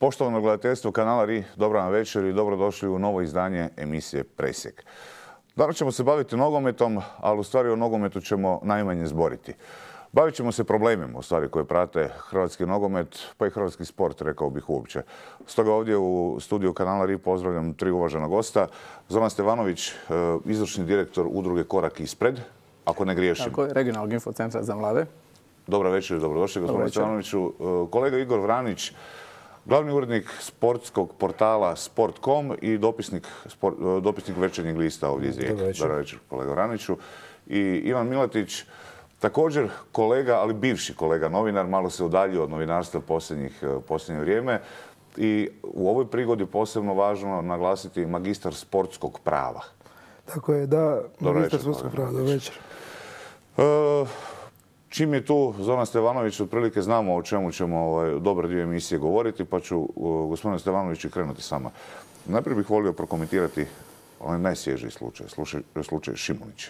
Poštovano gledateljstvo kanala RI, dobro vam večer i dobrodošli u novo izdanje emisije Presjek. Danas ćemo se baviti nogometom, ali u stvari o nogometu ćemo najmanje zboriti. Bavit ćemo se problemima u stvari koje prate hrvatski nogomet, pa i hrvatski sport, rekao bih uopće. Stoga ovdje u studiju kanala RI pozdravljam tri uvažena gosta. Zoran Stevanović, izvršni direktor udruge Korak ispred, ako ne griješim. Tako je, regionalnog infocentra za mlade. Dobra večer i dobrodošli, gospodine Stevanoviću. Kolega Igor Vranić, glavni urednik sportskog portala Sport.com i dopisnik Večernjeg lista ovdje iz Rijeke. Dobra večer, kolega Vraniću. I Ivan Milatić, također kolega, ali bivši kolega novinar, malo se udaljio od novinarstva posljednje vrijeme. I u ovoj prigodi posebno važno naglasiti magistar sportskog prava. Tako je, da, magistar sportskog prava. Dobro večer. Čim je tu Zoran Stevanović, otprilike znamo o čemu ćemo dobar dio emisije govoriti, pa ću, gospodine Stevanoviću, krenuti s vama. Najprije bih volio prokomentirati onaj najsvježiji slučaj Šimunić.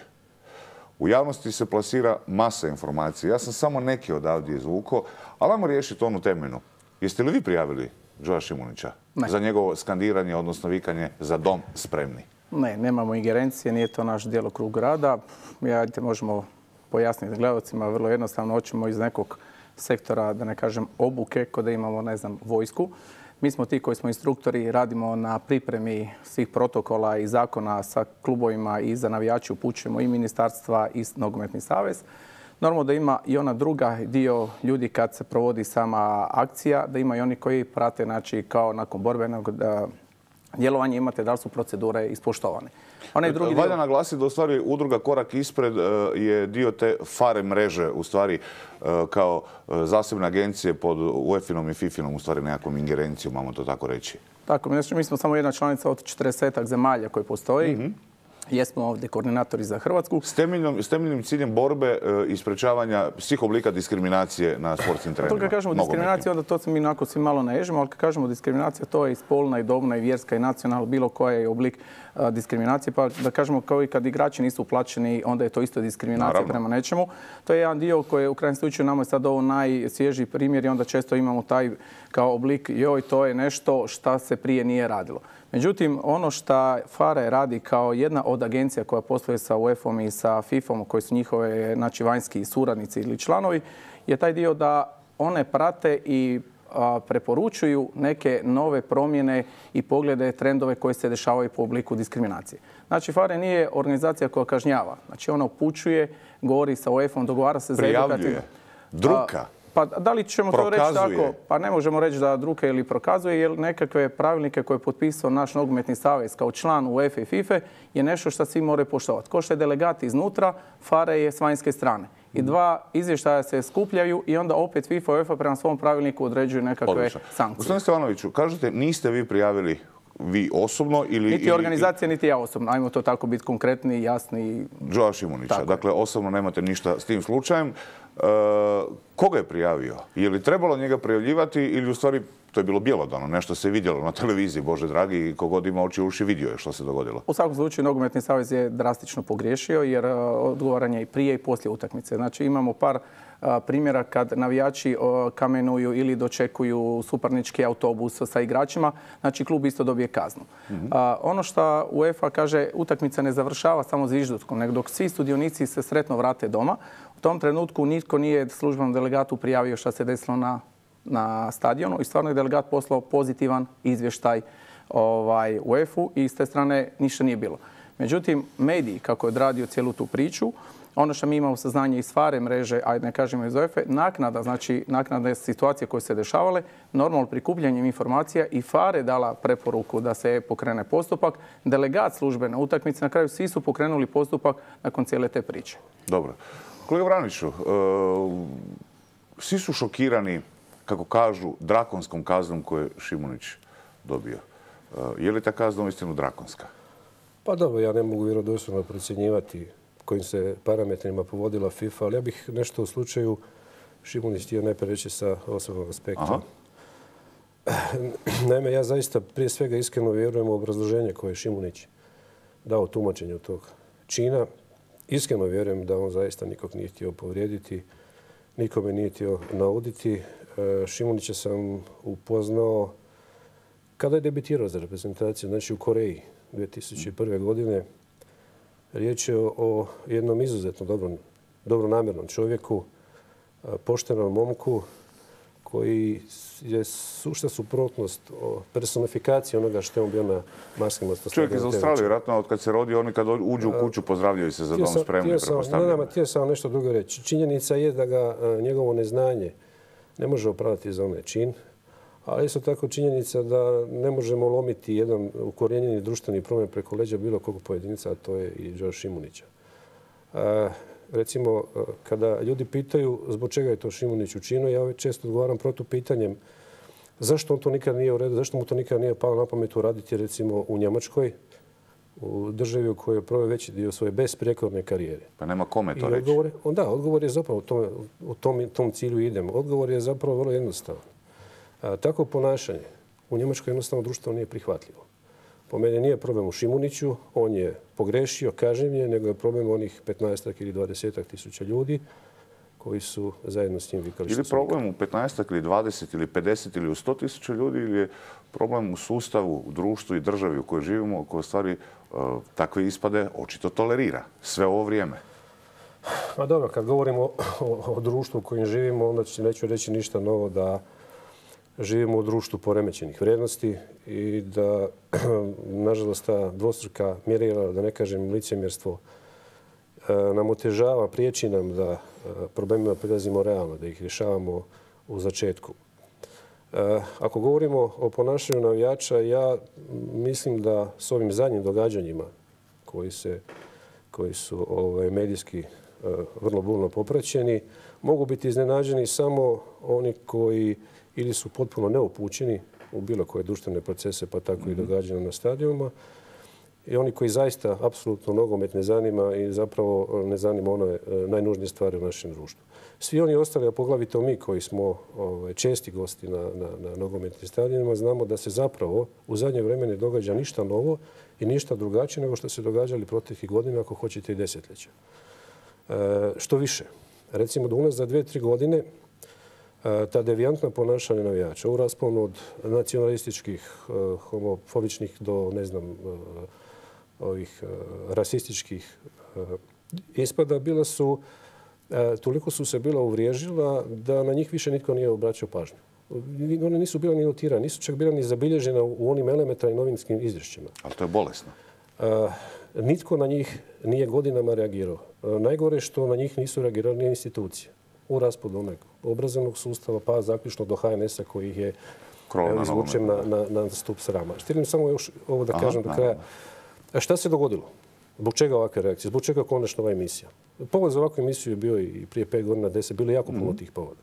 U javnosti se plasira masa informacija. Ja sam samo neki odavdje izvukao, ali ajmo riješiti onu temeljnu. Jeste li vi prijavili Joa Šimunića za njegovo skandiranje, odnosno vikanje za dom spremni? Ne, nemamo ingerencije, nije to naš djelokrug rada. Možemo pojasniti gledalcima vrlo jednostavno, hoćemo iz nekog sektora, da ne kažem obuke, kod da imamo, ne znam, vojsku. Mi smo ti koji smo instruktori, radimo na pripremi svih protokola i zakona sa klubovima i za navijače upućujemo i ministarstva i nogometni savez. Normalno da ima i ona druga dio ljudi kad se provodi sama akcija, da ima i oni koji prate, znači, kao nakon borbenog djelovanja imate da li su procedure ispoštovane. Valja naglasiti da u stvari udruga Korak ispred je dio te FARE mreže, u stvari kao zasebne agencije pod UEFA-om i FIFA-om, u stvari nekakvom ingerencijom, imamo to tako reći. Tako, mi smo samo jedna članica od 40-ak zemalja koji postoji. Jesmo ovdje koordinatori za Hrvatsku. S temeljnim ciljem borbe i sprečavanja svih oblika diskriminacije na sportskim terenima. To kad kažemo diskriminacija, onda to se mi onako svi malo naježimo, ali kad kažemo diskriminacija, to je i spolna, i dobna, i vjerska, i nacionalna, bilo koja je oblik diskriminacije. Pa da kažemo kao i kad igrači nisu uplaćeni, onda je to isto diskriminacija prema nečemu. To je jedan dio koji je u krajnjem slučaju nama je sad ovo najsvježiji primjer i onda često imamo taj kao oblik, joj, to je nešto šta se prije nije radilo. Međutim, ono što FARE radi kao jedna od agencija koja posluje sa UEFA-om i sa FIFA-om, koji su njihove, znači, vanjski suradnici ili članovi, je taj dio da one prate i preporučuju neke nove promjene i poglede, trendove koji se dešavaju po obliku diskriminacije. Znači, FARE nije organizacija koja kažnjava. Znači, ona upućuje, govori sa UEFA-om, dogovara se za edukativno. Prijavljuje. Druka. Pa da li ćemo to reći tako? Pa ne možemo reći da druke ili prokazuje, jer nekakve pravilnike koje je potpisao naš nogometni savez kao član UEFA i FIFA je nešto što svi moraju poštovati. Ko što je delegat iznutra, FARE je s vanjske strane. I dva izvještaja se skupljaju i onda opet FIFA i UEFA prema svom pravilniku određuju nekakve sankcije. Gospodine Stevanoviću, kažete niste vi prijavili vi osobno ili... Niti organizacija, niti ja osobno. Ajmo to tako biti konkretni, jasni. Joa Šimunića. Dakle, osobno nemate ništa s tim slučajem. Koga je prijavio? Je li trebalo njega prijavljivati ili u stvari to je bilo bjelodano? Nešto se vidjelo na televiziji, Bože dragi, i kogod ima oči i uši vidio je što se dogodilo. U svakom slučaju Nogometni savez je drastično pogriješio jer odgovoran je i prije i poslije utakmice. Znači imamo par primjera kad navijači kamenuju ili dočekuju suparnički autobus sa igračima, znači klub isto dobije kaznu. Ono što UEFA kaže, utakmica ne završava samo zviždutkom, nego dok svi sudionici se sretno vrate doma, u tom trenutku nitko nije službenom delegatu prijavio što se desilo na stadionu i stvarno je delegat poslao pozitivan izvještaj UEFA-u i s te strane ništa nije bilo. Međutim, mediji, kako je odradio cijelu tu priču, ono što mi imamo saznanje iz FARE mreže, a ne kažemo iz UEFA, naknada situacije koje se dešavale, normalno prikupljanjem informacija i FARE dala preporuku da se pokrene postupak. Delegat službene utakmice, na kraju svi su pokrenuli postupak nakon cijele te priče. Dobro. Kolega Vraniću, svi su šokirani, kako kažu, drakonskom kaznom koju je Šimunić dobio. Je li ta kazna uistinu drakonska? Pa dobro, ja ne mogu vjerodostojno procjenjivati kojim se parametrima povodila FIFA, ali ja bih nešto u slučaju Šimunić htio najprije reći sa osobnog aspekta. Naime, ja zaista prije svega iskreno vjerujem u obrazloženje koje je Šimunić dao tumačenju tog čina. Iskreno vjerujem da on zaista nikog nije htio povrijediti, nikome nije htio nauditi. Šimunića sam upoznao Kada je debitirao za reprezentaciju, znači u Koreji 2001. godine, riječ je o jednom izuzetno dobronamjernom čovjeku, poštenom momku koji je sušta suprotnost o personifikaciji onoga što je on bio na marskim ostoslavljenim. Čovjek iz Australije, vjerojatno od kad se rodi, oni kad uđu u kuću pozdravljaju se za dom spremni, pretpostavljam. Htio sam nešto drugo reći. Činjenica je da ga njegovo neznanje ne može opravdati za onaj čin, ali isto tako činjenica da ne možemo lomiti jedan ukorijenjeni društveni problem preko leđa bilo kog pojedinca, a to je i Đorđe Šimunića. Recimo, kada ljudi pitaju zbog čega je to Šimunić učinio, ja često odgovaram protupitanjem zašto on to nikad nije uredio, zašto mu to nikad nije palo na pamet uraditi recimo u Njemačkoj, u državi u kojoj je proveo veći dio svoje besprijekorne karijere. Pa nema kome to reći. Odgovor je zapravo u tom cilju idemo. Odgovor je zapravo vrlo jednostavan. Tako ponašanje u Njemačkoj jednostavno društvo nije prihvatljivo. Po meni nije problem u Šimuniću, on je pogrešio, kažnjen, nego je problem onih 15 ili 20 tisuća ljudi koji su zajedno s njim vikali. Ili problem u 15 ili 20 ili 50 ili u 100 tisuća ljudi ili je problem u sustavu, u društvu i državi u kojoj živimo, koji stvari takve ispade očito tolerira sve ovo vrijeme? Pa dobro, kad govorimo o društvu u kojem živimo, onda neću reći ništa novo da živimo u društvu poremećenih vrijednosti i da, nažalost, ta dvostruka mjerila, da ne kažem licemjerstvo, nam otežava, priječi nam da problemima prilazimo realno, da ih rješavamo u začetku. Ako govorimo o ponašanju navijača, ja mislim da s ovim zadnjim događanjima koji su medijski vrlo burno popraćeni, mogu biti iznenađeni samo oni koji ili su potpuno neupućeni u bilo koje društvene procese, pa tako i događanja na stadionima, i oni koji zaista apsolutno nogomet ne zanima i zapravo ne zanima one najnužnije stvari u našem društvu. Svi oni ostali, a poglavito mi koji smo česti gosti na nogometnim stadionima, znamo da se zapravo u zadnje vrijeme ne događa ništa novo i ništa drugačije nego što se događali proteklih godina, ako hoćete i desetljeća. Što više, recimo da unazad 2-3 godine ta devijantna ponašanja navijača u rasponu od nacionalističkih, homofobičnih do, ne znam, ovih rasističkih ispada toliko su se bila uvriježila da na njih više nitko nije obraćao pažnju. One nisu bila ni notirane, nisu čak bila ni zabilježena u onim elementarnim novinskim izvješćima. Ali to je bolesno. Nitko na njih nije godinama reagirao. Najgore što na njih nisu reagirali ni institucije. U raspadu onog obrazovnog sustava, pa zaključno do HNS-a koji ih je izvučen na stup srama. Želim samo još ovo da kažem do kraja. Šta se dogodilo? Zbog čega ovakve reakcije? Zbog čega konačno ova emisija? Povod za ovakvu emisiju je bio i prije 5 godina, 10, bilo jako puno tih povoda.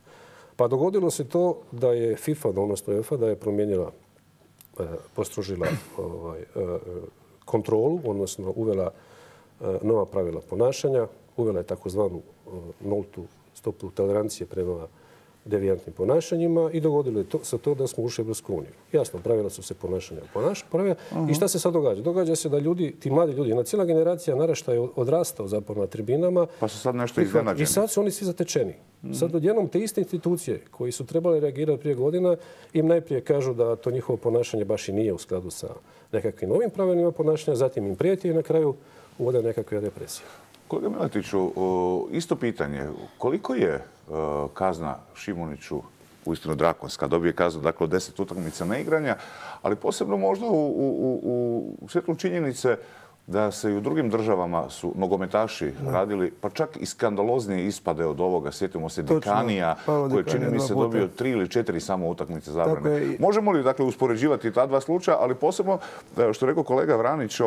Pa dogodilo se to da je FIFA, odnosno UEFA, da je promijenila, postrožila kontrolu, odnosno uvela nova pravila ponašanja, uvela je takozvanu nultu stopu tolerancije prema devijantnim ponašanjima i dogodilo je se to da smo ušli u Europsku uniju. Jasno, pravila su se ponašanja I šta se sad događa? Događa se da ljudi, ti mladi ljudi, jedna cijela generacija naraštaja je odrastao zapravo na tribinama. Pa su sad nešto iznenađeni. I sad su oni svi zatečeni. Sad odjednom te iste institucije koji su trebali reagirati prije godina im najprije kažu da to njihovo ponašanje baš i nije u skladu sa nekakvim novim pravilima ponašanja, zatim im prijeti i na kraju uvode nekakve represije. Kolega Miletiću, isto pitanje. Koliko je kazna Šimuniću uistinu drakonska? Dobije kaznu dakle, od 10 utakmica neigranja, ali posebno možda u svjetlu činjenice da se i u drugim državama su nogometaši radili, pa čak i skandaloznije ispade od ovoga. Sjetimo se Dikanija, koji čini mi se dobio 3 ili 4 samo utakmice zabrane. Možemo li dakle uspoređivati ta dva slučaja, ali posebno, što je rekao kolega Vranić,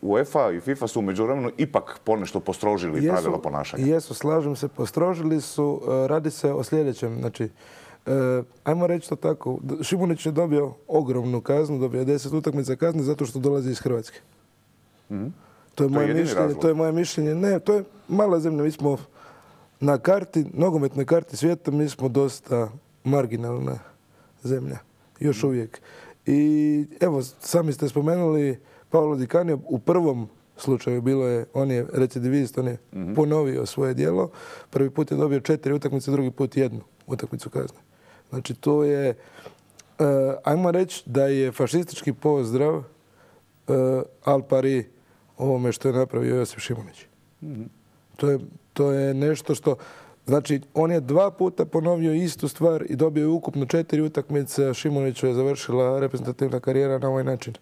UEFA i FIFA su u međuvremenu ipak ponešto postrožili pravila ponašanja. Jesu, slažem se, postrožili su. Radi se o sljedećem. Znači, ajmo reći to tako, Šimunić je dobio ogromnu kaznu, dobio 10 utakmica kazne zato što dolazi iz Hrvatske. To je moje mišljenje. Ne, to je mala zemlja. Mi smo na karti, nogometnoj karti svijeta, mi smo dosta marginalna zemlja. Još uvijek. I evo, sami ste spomenuli Paolo Di Canio. U prvom slučaju on je recidivist, on je ponovio svoje djelo. Prvi put je dobio 4 utakmice, drugi put 1 utakmicu kazne. Znači, to je Ajmo reći da je fašistički pozdrav al pari ovome što je napravio Josip Šimunić. To je nešto što... Znači, on je 2 puta ponovio istu stvar i dobio je ukupno 4 utakmice, a Šimuniću je završila reprezentativna karijera na ovaj način.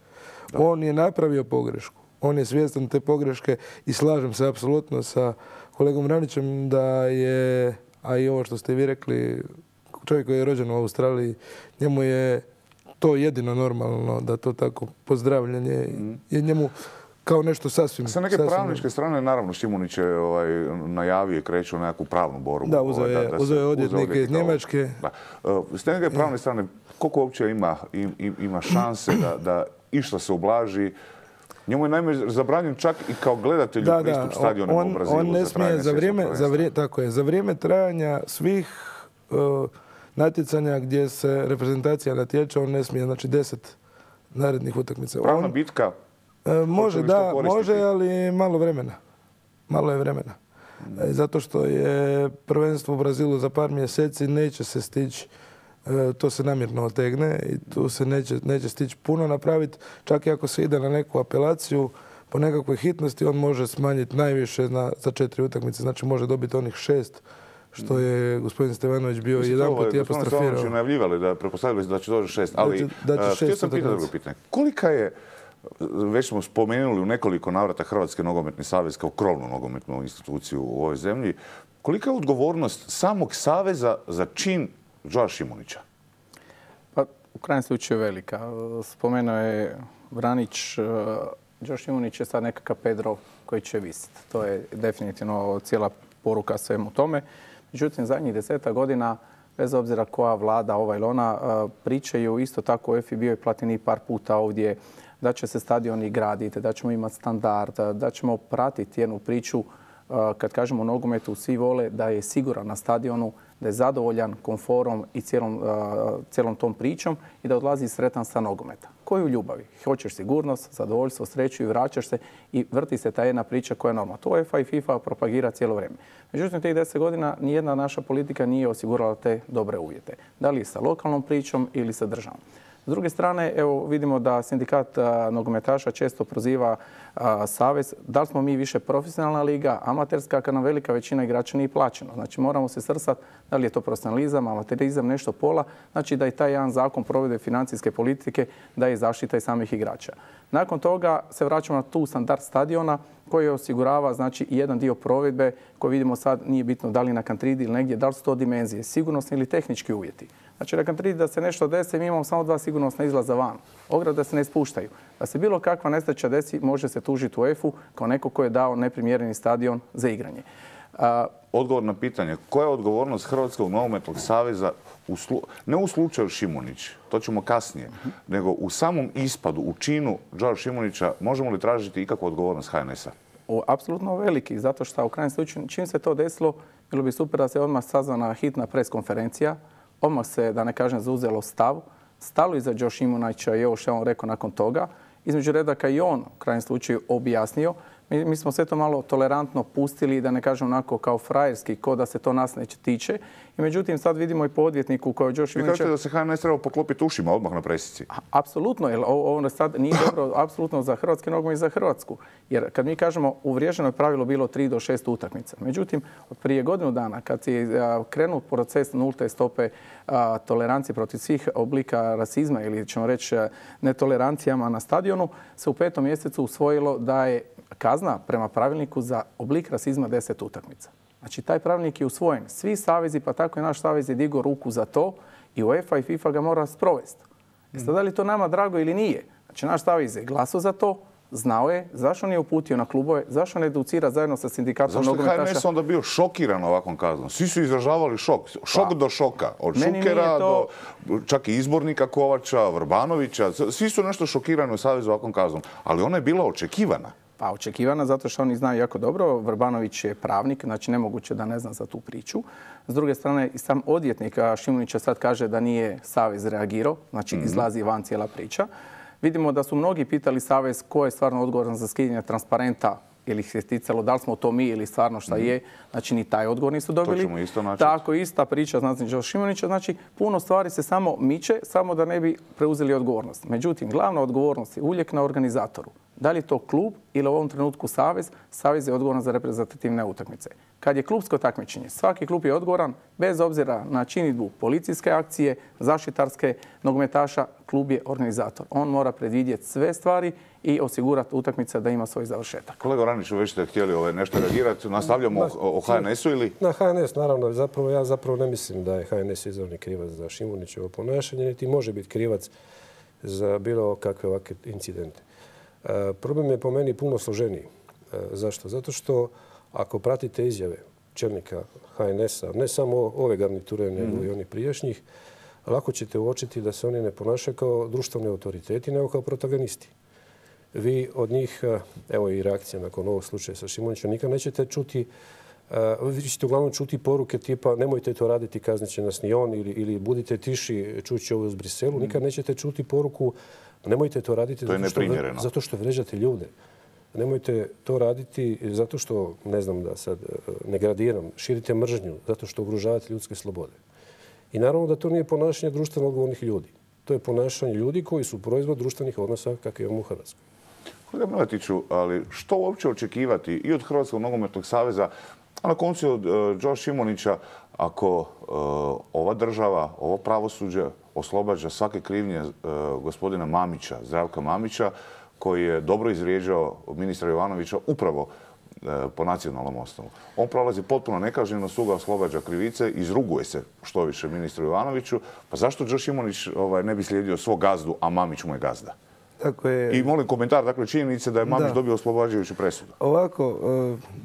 Da. On je napravio pogrešku. On je svjestan te pogreške i slažem se apsolutno sa kolegom Vranićem da je, a i ovo što ste vi rekli, čovjek koji je rođen u Australiji, njemu je to jedino normalno da to tako pozdravljanje je njemu kao nešto sasvim... Sa neke pravničke strane, naravno, Šimunić je najavio i kreću nekakvu pravnu borbu. Da, uzeo je odvjetnike iz Njemačke. S te neke pravne strane, koliko uopće ima šanse da išta se ublaži? Njemu je naime zabranjen čak i kao gledatelju pristup stadionima u Brazilu. On ne smije za vrijeme trajanja svih natjecanja gdje se reprezentacija natječe, on ne smije, znači 10 narednih utakmica. Pravna bitka? Može, ali malo vremena. Malo je vremena. Zato što je prvenstvo u Brazilu za par mjeseci, neće se stići, to se namjerno otegne i tu se neće stići puno napraviti. Čak i ako se ide na neku apelaciju, po nekakvoj hitnosti on može smanjiti najviše za 4 utakmice. Znači može dobiti onih 6 što je gospodin Stevanović bio jedan put i apostrofirao. Gospodin Stevanović najavljivali da pretpostavili da će doći 6, ali htio sam pitati drugo pitanje. Kolika je, već smo spomenuli u nekoliko navrata Hrvatski nogometni savez kao krovnu nogometnu instituciju u ovoj zemlji, kolika je odgovornost samog saveza za čin Joa Šimunića? Pa, u krajnjem slučaju velika. Spomenuo je Vranić, Joa Šimunić je sad nekakav Pedro koji će visiti. To je definitivno cijela poruka svemu tome. Međutim, zadnjih 10 godina, bez obzira koja vlada, ova ili ona, pričaju isto tako u UEFA bio je Platini par puta ovdje, da će se stadioni graditi, da ćemo imati standard, da ćemo pratiti jednu priču. Kad kažemo o nogometu, svi vole da je siguran na stadionu, da je zadovoljan komforom i cijelom tom pričom i da odlazi sretan sa nogometa. Koju ljubavi? Hoćeš sigurnost, zadovoljstvo, sreću i vraćaš se i vrti se ta jedna priča koja je normalna. To UEFA i FIFA propagira cijelo vrijeme. Međutim, tih 10 godina nijedna naša politika nije osigurala te dobre uvjete. Da li sa lokalnom pričom ili sa državom. S druge strane, evo vidimo da sindikat nogometaša često proziva savez. Da li smo mi više profesionalna liga, amaterska, kad nam velika većina igrača nije plaćeno. Znači moramo se srstati da li je to profesionalizam, amaterizam, nešto pola. Znači da i taj jedan zakon provedbe financijske politike da je zaštita i samih igrača. Nakon toga se vraćamo na tu standard stadiona koji osigurava znači jedan dio provedbe koji vidimo sad nije bitno da li na Kantridi ili negdje, da li su to dimenzije, sigurnosni ili tehnički uvjeti. Znači na Kantridi da se nešto desi, mi imamo samo 2 sigurnosna izlaza van. Ograde se ne spuštaju. Da se bilo kakva nesreća desi, može se tužiti UEFA-u kao neko ko je dao neprimjereni stadion za igranje. Odgovor na pitanje, koja je odgovornost Hrvatskog nogometnog saveza ne u slučaju Šimunić, to ćemo kasnije, nego u samom ispadu, u činu Joa Šimunića, možemo li tražiti ikakvu odgovornost HNS-a? Apsolutno veliki, zato što u krajnjem slučaju čim se to desilo, bilo bi super da se odmah sazvana hitna preskonferencija, odmah se, da ne kažem, zauzelo stav, stalo iza Joa Šimunića i ovo što je on rekao nakon toga. Između redaka i on u krajnjem slučaju objasnio. Mi smo sve to malo tolerantno pustili, da ne kažem onako kao frajerski, ko da se to nas neće tiče. I međutim, sad vidimo i po odvjetniku koji je Joa Šimunića... Vi kažete da se HNS treba poklopiti ušima odmah na presici? Apsolutno, jer ovo sad nije dobro apsolutno za hrvatski nogomet i za Hrvatsku. Jer kad mi kažemo uvriježeno je pravilo bilo 3 do 6 utakmica. Međutim, prije godinu dana kad je krenuo proces nulte stope tolerancije protiv svih oblika rasizma ili ćemo reći netolerancijama na stadionu, se u 5. mjesecu usvojilo da je kazna prema pravilniku za oblik rasizma 10 utakmica. Znači, taj pravilnik je usvojen. Svi savezi, pa tako i naš savez je digao ruku za to i UEFA i FIFA ga mora sprovesti. Da li je to nama drago ili nije? Znači, naš savez je glasao za to, znao je, zašto nije uputio na klubove, zašto ne educira zajedno sa sindikatom nogometaša. Zašto je HNS onda bio šokiran ovakvom kaznom? Svi su izražavali šok. Šok do šoka. Od Šukera do čak i izbornika Kovača, Vrbanovića. Svi su nešto šokirani u savezu ovakvom kaznom. Ali ona je bila očekivana. Pa očekivana zato što oni znaju jako dobro. Vrbanović je pravnik, znači nemoguće da ne zna za tu priču. S druge strane, i sam odvjetnik Šimunića sad kaže da nije savez reagirao, znači izlazi van cijela priča. Vidimo da su mnogi pitali savez ko je stvarno odgovoran za skidanje transparenta ili ih se ticalo, da li smo to mi ili stvarno šta je, znači ni taj odgovor nisu dobili. To ćemo isto naći. Tako, ista priča, znači Joe Šimunića, znači puno stvari se samo miče, samo da ne bi preuzeli odgovornost. Međutim, glavna odgovornost je uvijek na organizatoru. Da li je to klub ili u ovom trenutku savez? Savez je odgovoran za reprezentativne utakmice. Kad je klubsko takmičenje, svaki klub je odgovoran bez obzira na činidbu policijske akcije, zaštitarske, nogometaša, klub je organizator. On mora predvidjeti sve stvari i osigurati utakmica da ima svoj završetak. Kolega Vraniću, već ste htjeli nešto reagirati. Nastavljamo o HNS-u ili? Na HNS, naravno. Ja zapravo ne mislim da je HNS izravni krivac za Šimunićevo ponašanje, niti može biti krivac za bilo kakve ovakve incidente. Problem je po meni puno složeniji. Zašto? Zato što ako pratite izjave čelnika HNS-a, ne samo ove garniture, nego i onih prijašnjih, lako ćete uočiti da se oni ne ponašaju kao društveni autoriteti, nego kao protagonisti. Vi od njih, evo i reakcija nakon ovog slučaja sa Šimunićem, nikad nećete čuti, vi ćete uglavnom čuti poruke tipa nemojte to raditi, kaznit će nas ni on, ili budite tiši, čući ovo iz Briselu. Nikad nećete čuti poruku nemojte to raditi zato što vređate ljude. Nemojte to raditi zato što, ne znam da sad ne gradiram, širite mržnju, zato što ugrožavate ljudske slobode. I naravno da to nije ponašanje društveno odgovornih ljudi. To je ponašanje ljudi koji su proizvod društvenih odnosa kakve imamo u Hrvatskoj. Kolega Miletiću, ali što uopće očekivati i od Hrvatskog nogometnog saveza, a na koncu od Joe Šimunića, ako ova država, ovo pravosuđe oslobađa svake krivnje gospodina Mamića, Zdravka Mamića, koji je dobro izvrijeđao ministra Jovanovića upravo po nacionalnom osnovu. On prolazi potpuno nekažnjeno, sud ga oslobađa krivice, izruguje se što više ministru Jovanoviću. Pa zašto Joe Šimunić ne bi slijedio svog gazdu, a Mamić mu je gazda? Tako je. I molim komentar, dakle, činjenice da je Mamić dobio oslobađajuću presudu. Ovako,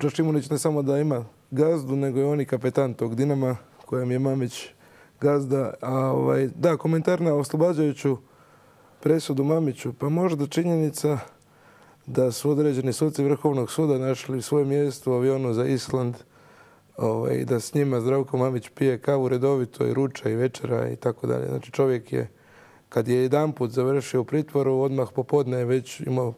Joe Šimunić ne samo da ima gazdu, nego je on i kapetan tog Dinama, kojem je Mamić gazda. Da, komentar na oslobađajuću presudu Mamiću. Pa možda činjenica da su određeni suci Vrhovnog suda našli svoje mjesto u avionu za Island i da s njima Zdravko Mamić pije kavu redovito i ruča i večera i tako dalje. Znači čovjek je, kad je jedanput završio u pritvoru, odmah popodne je već imao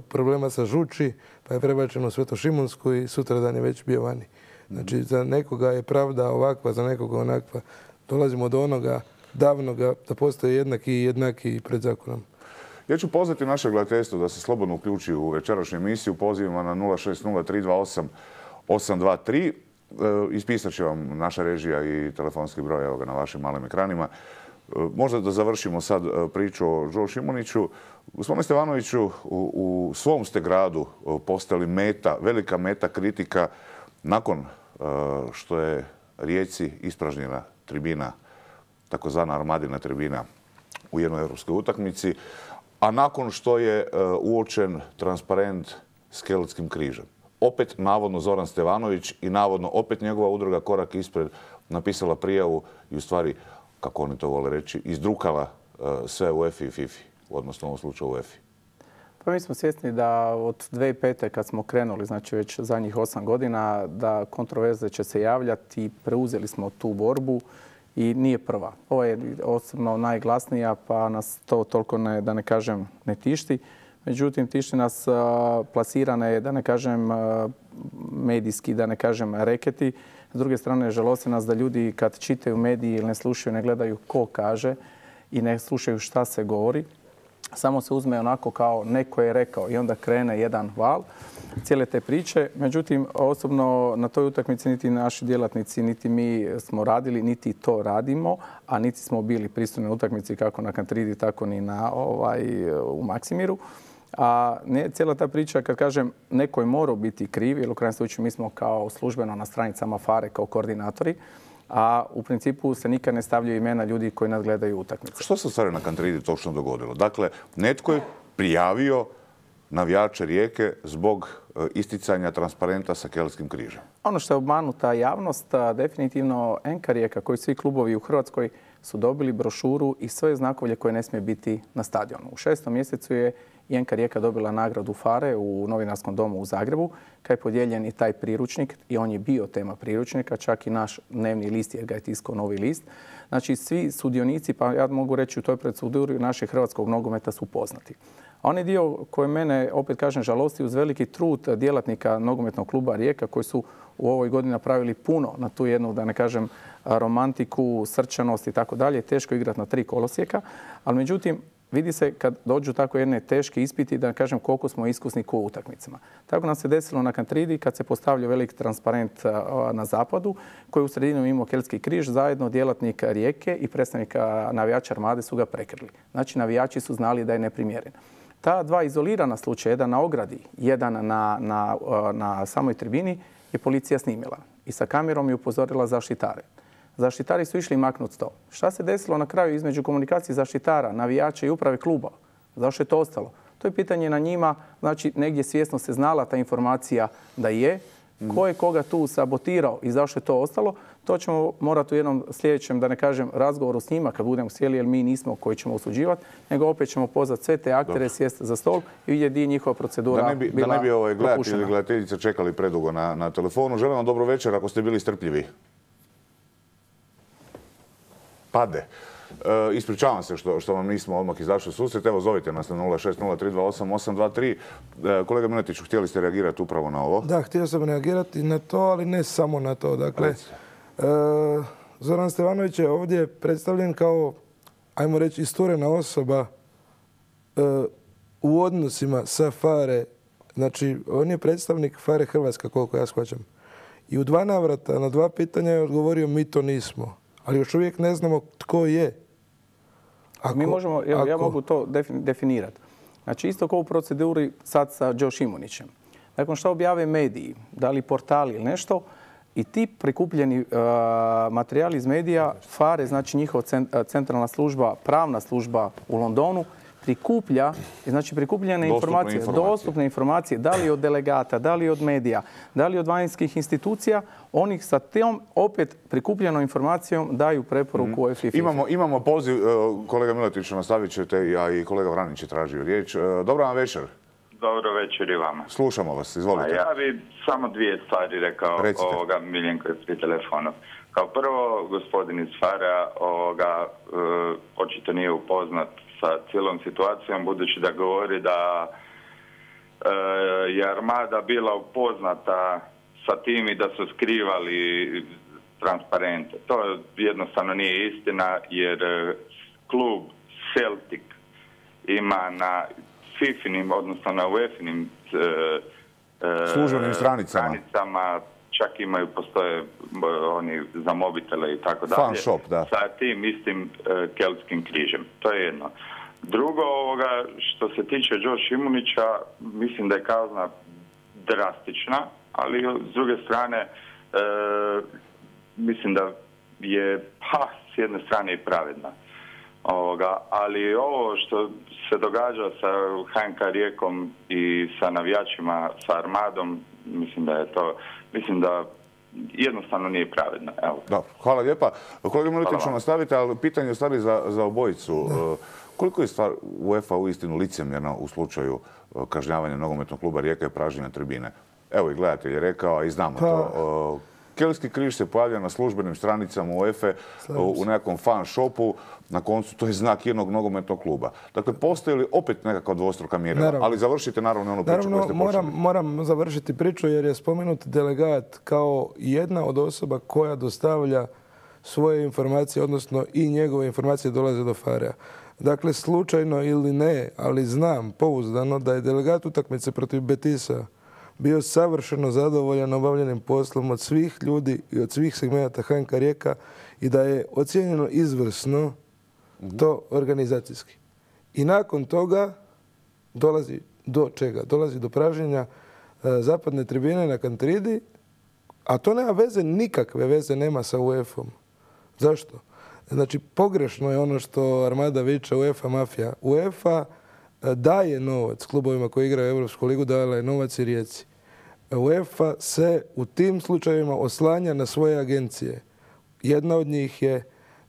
problema sa žuči, pa je prebačen u Svetošimunsku i sutradan je već bio vani. Znači za nekoga je pravda ovakva, za nekoga onakva. Dolazimo do onoga davnoga da postoje jednaki pred zakonom. Ja ću pozvati naše gledateljstvo da se slobodno uključi u večerašnju emisiju pozivima na 060-328-823. Ispisat će vam naša režija i telefonski broj, evo ga na vašim malim ekranima. Možda da završimo sad priču o Joe Šimuniću. Gospodine Stevanoviću, u svom ste gradu postali velika meta kritika nakon što je Rijeci ispražnjena tribina, takozvana Armadina tribina u jednoj europskoj utakmici, a nakon što je uočen transparent s Keltskim križem. Opet navodno Zoran Stevanović i navodno opet njegova udruga Korak ispred napisala prijavu i u stvari, kako oni to vole reći, izdrukala sve UEFA i FIFA, odnosno u ovom slučaju UEFA. Pa mi smo svjesni da od 2005. kad smo krenuli, znači već zadnjih 8 godina, da kontroverze će se javljati i preuzeli smo tu borbu i nije prva. Ovo je osobno najglasnija pa nas to toliko da ne kažem ne tišti. Međutim, tišti nas plasirane, da ne kažem medijski, da ne kažem reketi. S druge strane, žalosti nas da ljudi kad čitaju mediji ili ne slušaju, ne gledaju ko kaže i ne slušaju šta se govori. Samo se uzme onako kao neko je rekao i onda krene jedan val cijele te priče. Međutim, osobno na toj utakmici niti naši djelatnici, niti mi smo radili, niti to radimo, a niti smo bili prisutni na utakmici kako na Kantridi, tako ni u Maksimiru. A cijela ta priča, kad kažem, neko je morao biti kriv, jer u krajnjem slučaju mi smo kao službeno na stranicama FARE kao koordinatori, a u principu se nikad ne stavljaju imena ljudi koji nadgledaju utakmice. Što se u stvari na Kantridi točno dogodilo? Dakle, netko je prijavio navijače Rijeke zbog isticanja transparenta sa Keltskim križem. Ono što je obmanuta javnost, definitivno NK Rijeka, koji svi klubovi u Hrvatskoj su dobili brošuru i sve znakovlje koje ne smije biti na stadionu. U 6. mjesecu je i NK Rijeka dobila nagradu FARE u Novinarskom domu u Zagrebu, kad je podijeljen i taj priručnik i on je bio tema priručnika, čak i naš dnevni list jer ga je tiskao Novi list. Znači svi sudionici, pa ja mogu reći u toj proceduri našeg hrvatskog nogometa su poznati. A onaj dio koji mene, opet kažem, žalosti uz veliki trud djelatnika nogometnog kluba Rijeka koji su u ovoj godini napravili puno na tu jednu, da ne kažem, romantiku, srčanost i tako dalje. Teško igrati na 3 kolosijeka, ali međutim, vidi se kad dođu tako jedne teške ispiti, da kažem koliko smo iskusni u utakmicama. Tako nam se desilo na Kantridi kad se postavljao velik transparent na zapadu, koji u sredinu imao Keltski križ, zajedno djelatnik Rijeke i predstavnik navijača Armade su ga prekrili. Znači navijači su znali da je neprimjeren. Ta 2 izolirana slučaja, jedan na ogradi, jedan na samoj tribini, je policija snimila. I sa kamerom je upozorila zaštitare. Zaštitari su išli maknuti to. Šta se desilo na kraju između komunikacije zaštitara, navijača i uprave kluba? Zašto je to ostalo? To je pitanje na njima. Znači, negdje svjesno se znala ta informacija da je. Ko je koga tu sabotirao i zašto je to ostalo? To ćemo morati u jednom sljedećem, da ne kažem, razgovoru s njima kad budemo sjeli, jer mi nismo koji ćemo osuđivati, nego opet ćemo pozvati sve te aktere, sjesti za stol i vidjeti gdje je njihova procedura bila Da ne bi gledatelji ili gledateljice čekali predugo na telefonu. Želim vam dobro večer ako ste bili strpljivi. Pade. Ispričavam se što vam nismo odmah izašli u susret. Evo, zovite nas na 060328823. Kolega Miletiću, htjeli ste reagirati upravo na ovo? Da, htio sam reagirati na to, ali ne samo na to. Dakle, Zoran Stevanović je ovdje predstavljen kao, ajmo reći, isturena osoba u odnosima sa FARE. Znači, on je predstavnik FARE Hrvatska, koliko ja shvaćam. I u 2 navrata na 2 pitanja je odgovorio mi to nismo. Ali još uvijek ne znamo tko je. Mi možemo, ja mogu to definirati. Znači, isto kao u proceduri sad sa Joe Šimunićem. Nakon što objave mediji, da li portali ili nešto, i ti prikupljeni materijali iz medija, FARE, znači njihova centralna služba, pravna služba u Londonu, prikuplja, znači prikupljene informacije, dostupne informacije, da li od delegata, da li od medija, da li od vanjskih institucija, oni sa tom opet prikupljenom informacijom daju preporuku UEFA i FIFA. Imamo poziv, kolega Miletić, nastavit ćete, a i kolega Vranić je tražio riječ. Dobro vam večer. Dobro večer i vama. Slušamo vas, izvolite. Ja bi samo 2 stvari rekao ovoga Miljenko je pri telefonu. Kao prvo, gospodin iz FARE očito nije upoznat sa cijelom situacijom, budući da govori da je Armada bila upoznata sa tim i da su skrivali transparente. To jednostavno nije istina, jer klub Celtic ima na FIFA-inim, odnosno na UEFA-inim službenim stranicama, čak postoje oni za mobitele i tako dalje. Fan shop, da. Sa tim istim Keltskim križem. To je jedno. Drugo, što se tiče Joe Šimunića, mislim da je kazna drastična, ali s druge strane mislim da je s jedne strane i pravedna. Ali ovo što se događa sa HNK Rijekom i sa navijačima, sa Armadom, mislim da jednostavno nije pravedno. Evo. Da, hvala lijepa. Kolega Miletiću, nastavite, ali pitanje je stvari za obojicu. Koliko je stvar UEFA uistinu licemjerna u slučaju kažnjavanja nogometnog kluba Rijeka i pražnjenja tribine? Evo i gledatelj je rekao, a i znamo to. Keltski križ se pojavlja na službenim stranicama UEFA u nekakvom fan shopu. Na koncu to je znak jednog nogometnog kluba. Dakle, postoji li opet nekakva dvostruka mjerila? Ali završite naravno onu priču koju ste počeli. Moram završiti priču jer je spomenut delegat kao jedna od osoba koja dostavlja svoje informacije, odnosno i njegove informacije dolaze do FARE-a. Dakle, slučajno ili ne, ali znam pouzdano da je delegat utakmice protiv Betisa bio savršeno zadovoljan obavljenim poslom od svih ljudi i od svih segmenata HNK Rijeka i da je ocijenjeno izvrsno to organizacijski. I nakon toga dolazi do čega? Dolazi do pražnjenja zapadne tribine na Kantridi, a to nema veze, nikakve veze nema sa UEFA-om. Zašto? Znači, pogrešno je ono što Armada viče UEFA mafija. UEFA daje novac klubovima koji igraju Europsku ligu, dala je novac i Rijeci. UEFA se u tim slučajevima oslanja na svoje agencije. Jedna od njih je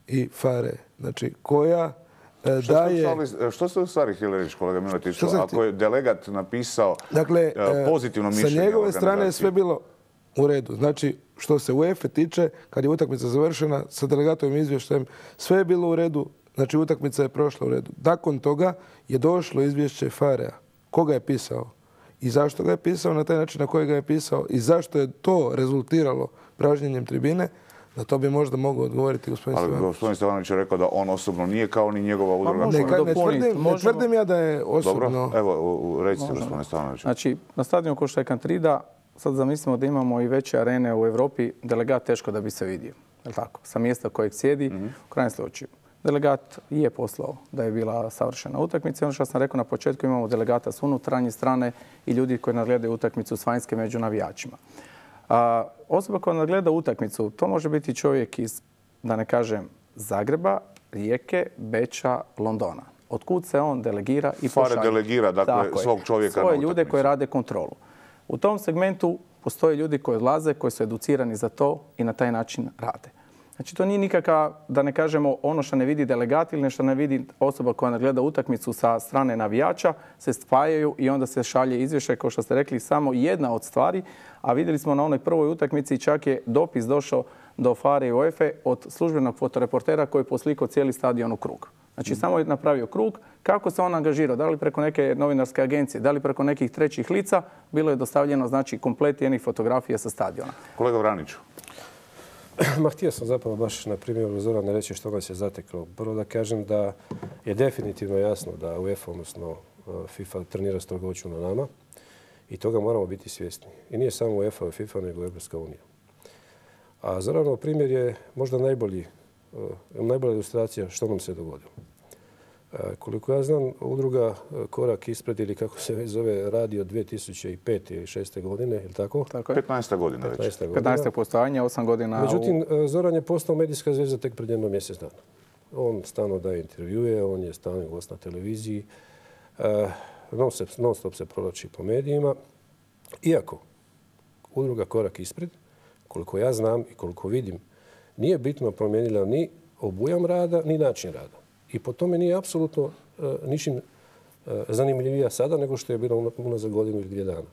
i FARE, znači koja daje... Što ste u stvari htjeli reći, kolega Miletiću, ako je delegat napisao pozitivno mišljenje? Sa njegove strane je sve bilo u redu. Znači, što se UEFA tiče, kad je utakmica završena sa delegatovim izvještajem, sve je bilo u redu, Znači utakmica je prošla u redu. Nakon toga je došlo izvješće FARE-a. Koga je pisao? I zašto ga je pisao na taj način na koji ga je pisao? I zašto je to rezultiralo pražnjenjem tribine? Na to bi možda mogao odgovoriti gospodin Stevanović. Ali gospodin Stevanović je rekao da on osobno nije kao ni njegova udruga. Ne tvrdim ja da je osobno... Dobro, evo, recite gospodin Stevanović. Znači, na stadionu ko što je Kantrida, sad zamislimo da imamo i veće arene u Europi, delegat teško da bi se vidio. Je tako? Sa mjesta kojeg sjedi, u krajnjem slučaju. Delegat je poslao da je bila savršena utakmica. Ono što sam rekao na početku, imamo delegata s unutarnje strane i ljudi koji nadgledaju utakmicu s vanjske među navijačima. Osoba koja nadgleda utakmicu, to može biti čovjek iz, da ne kažem, Zagreba, Rijeke, Beča, Londona. Otkud se on delegira i pošalje. FARE delegira, dakle, svog čovjeka na utakmicu. Svoje ljude koji rade kontrolu. U tom segmentu postoje ljudi koji odlaze, koji su educirani za to i na taj način rade. Znači, to nije nikakav, da ne kažemo, ono što ne vidi delegat ili nešto ne vidi osoba koja nagleda utakmicu sa strane navijača, se spajaju i onda se šalje izvješće, kao što ste rekli, samo jedna od stvari. A vidjeli smo na onoj prvoj utakmici čak je dopis došao do FARE i UEFA od službenog fotoreportera koji je poslikao cijeli stadion u krug. Znači, samo je napravio krug. Kako se on angažirao? Da li preko neke novinarske agencije, da li preko nekih trećih lica, bilo je dostavljeno, znači, komplet jednih fotografija sa stadiona. Kolega Vraniću. Htio sam zapravo baš na primjeru Zorana reći što nas je zateklo. Prvo da kažem da je definitivno jasno da UEFA, odnosno FIFA, trenira strogoću na nama i toga moramo biti svjesni. I nije samo UEFA i FIFA, nego Europska unija. A Zoranov primjer je možda najbolja ilustracija što nam se dogodilo. Koliko ja znam, udruga Korak ispred, ili kako se već zove, radi od 2005. ili 2006. godine, je li tako? Tako je. 15. godina već. 15. postojanja, 8 godina. Međutim, Zoran je postao medijska zvezda tek pred jedno mjesec dana. On stalno daje intervjue, on je stalni gost na televiziji, non stop se provlači po medijima. Iako udruga Korak ispred, koliko ja znam i koliko vidim, nije bitno promijenila ni obujam rada, ni način rada. I po tome nije apsolutno ničim zanimljivija sada nego što je bilo unazad godinu ili 2 dana.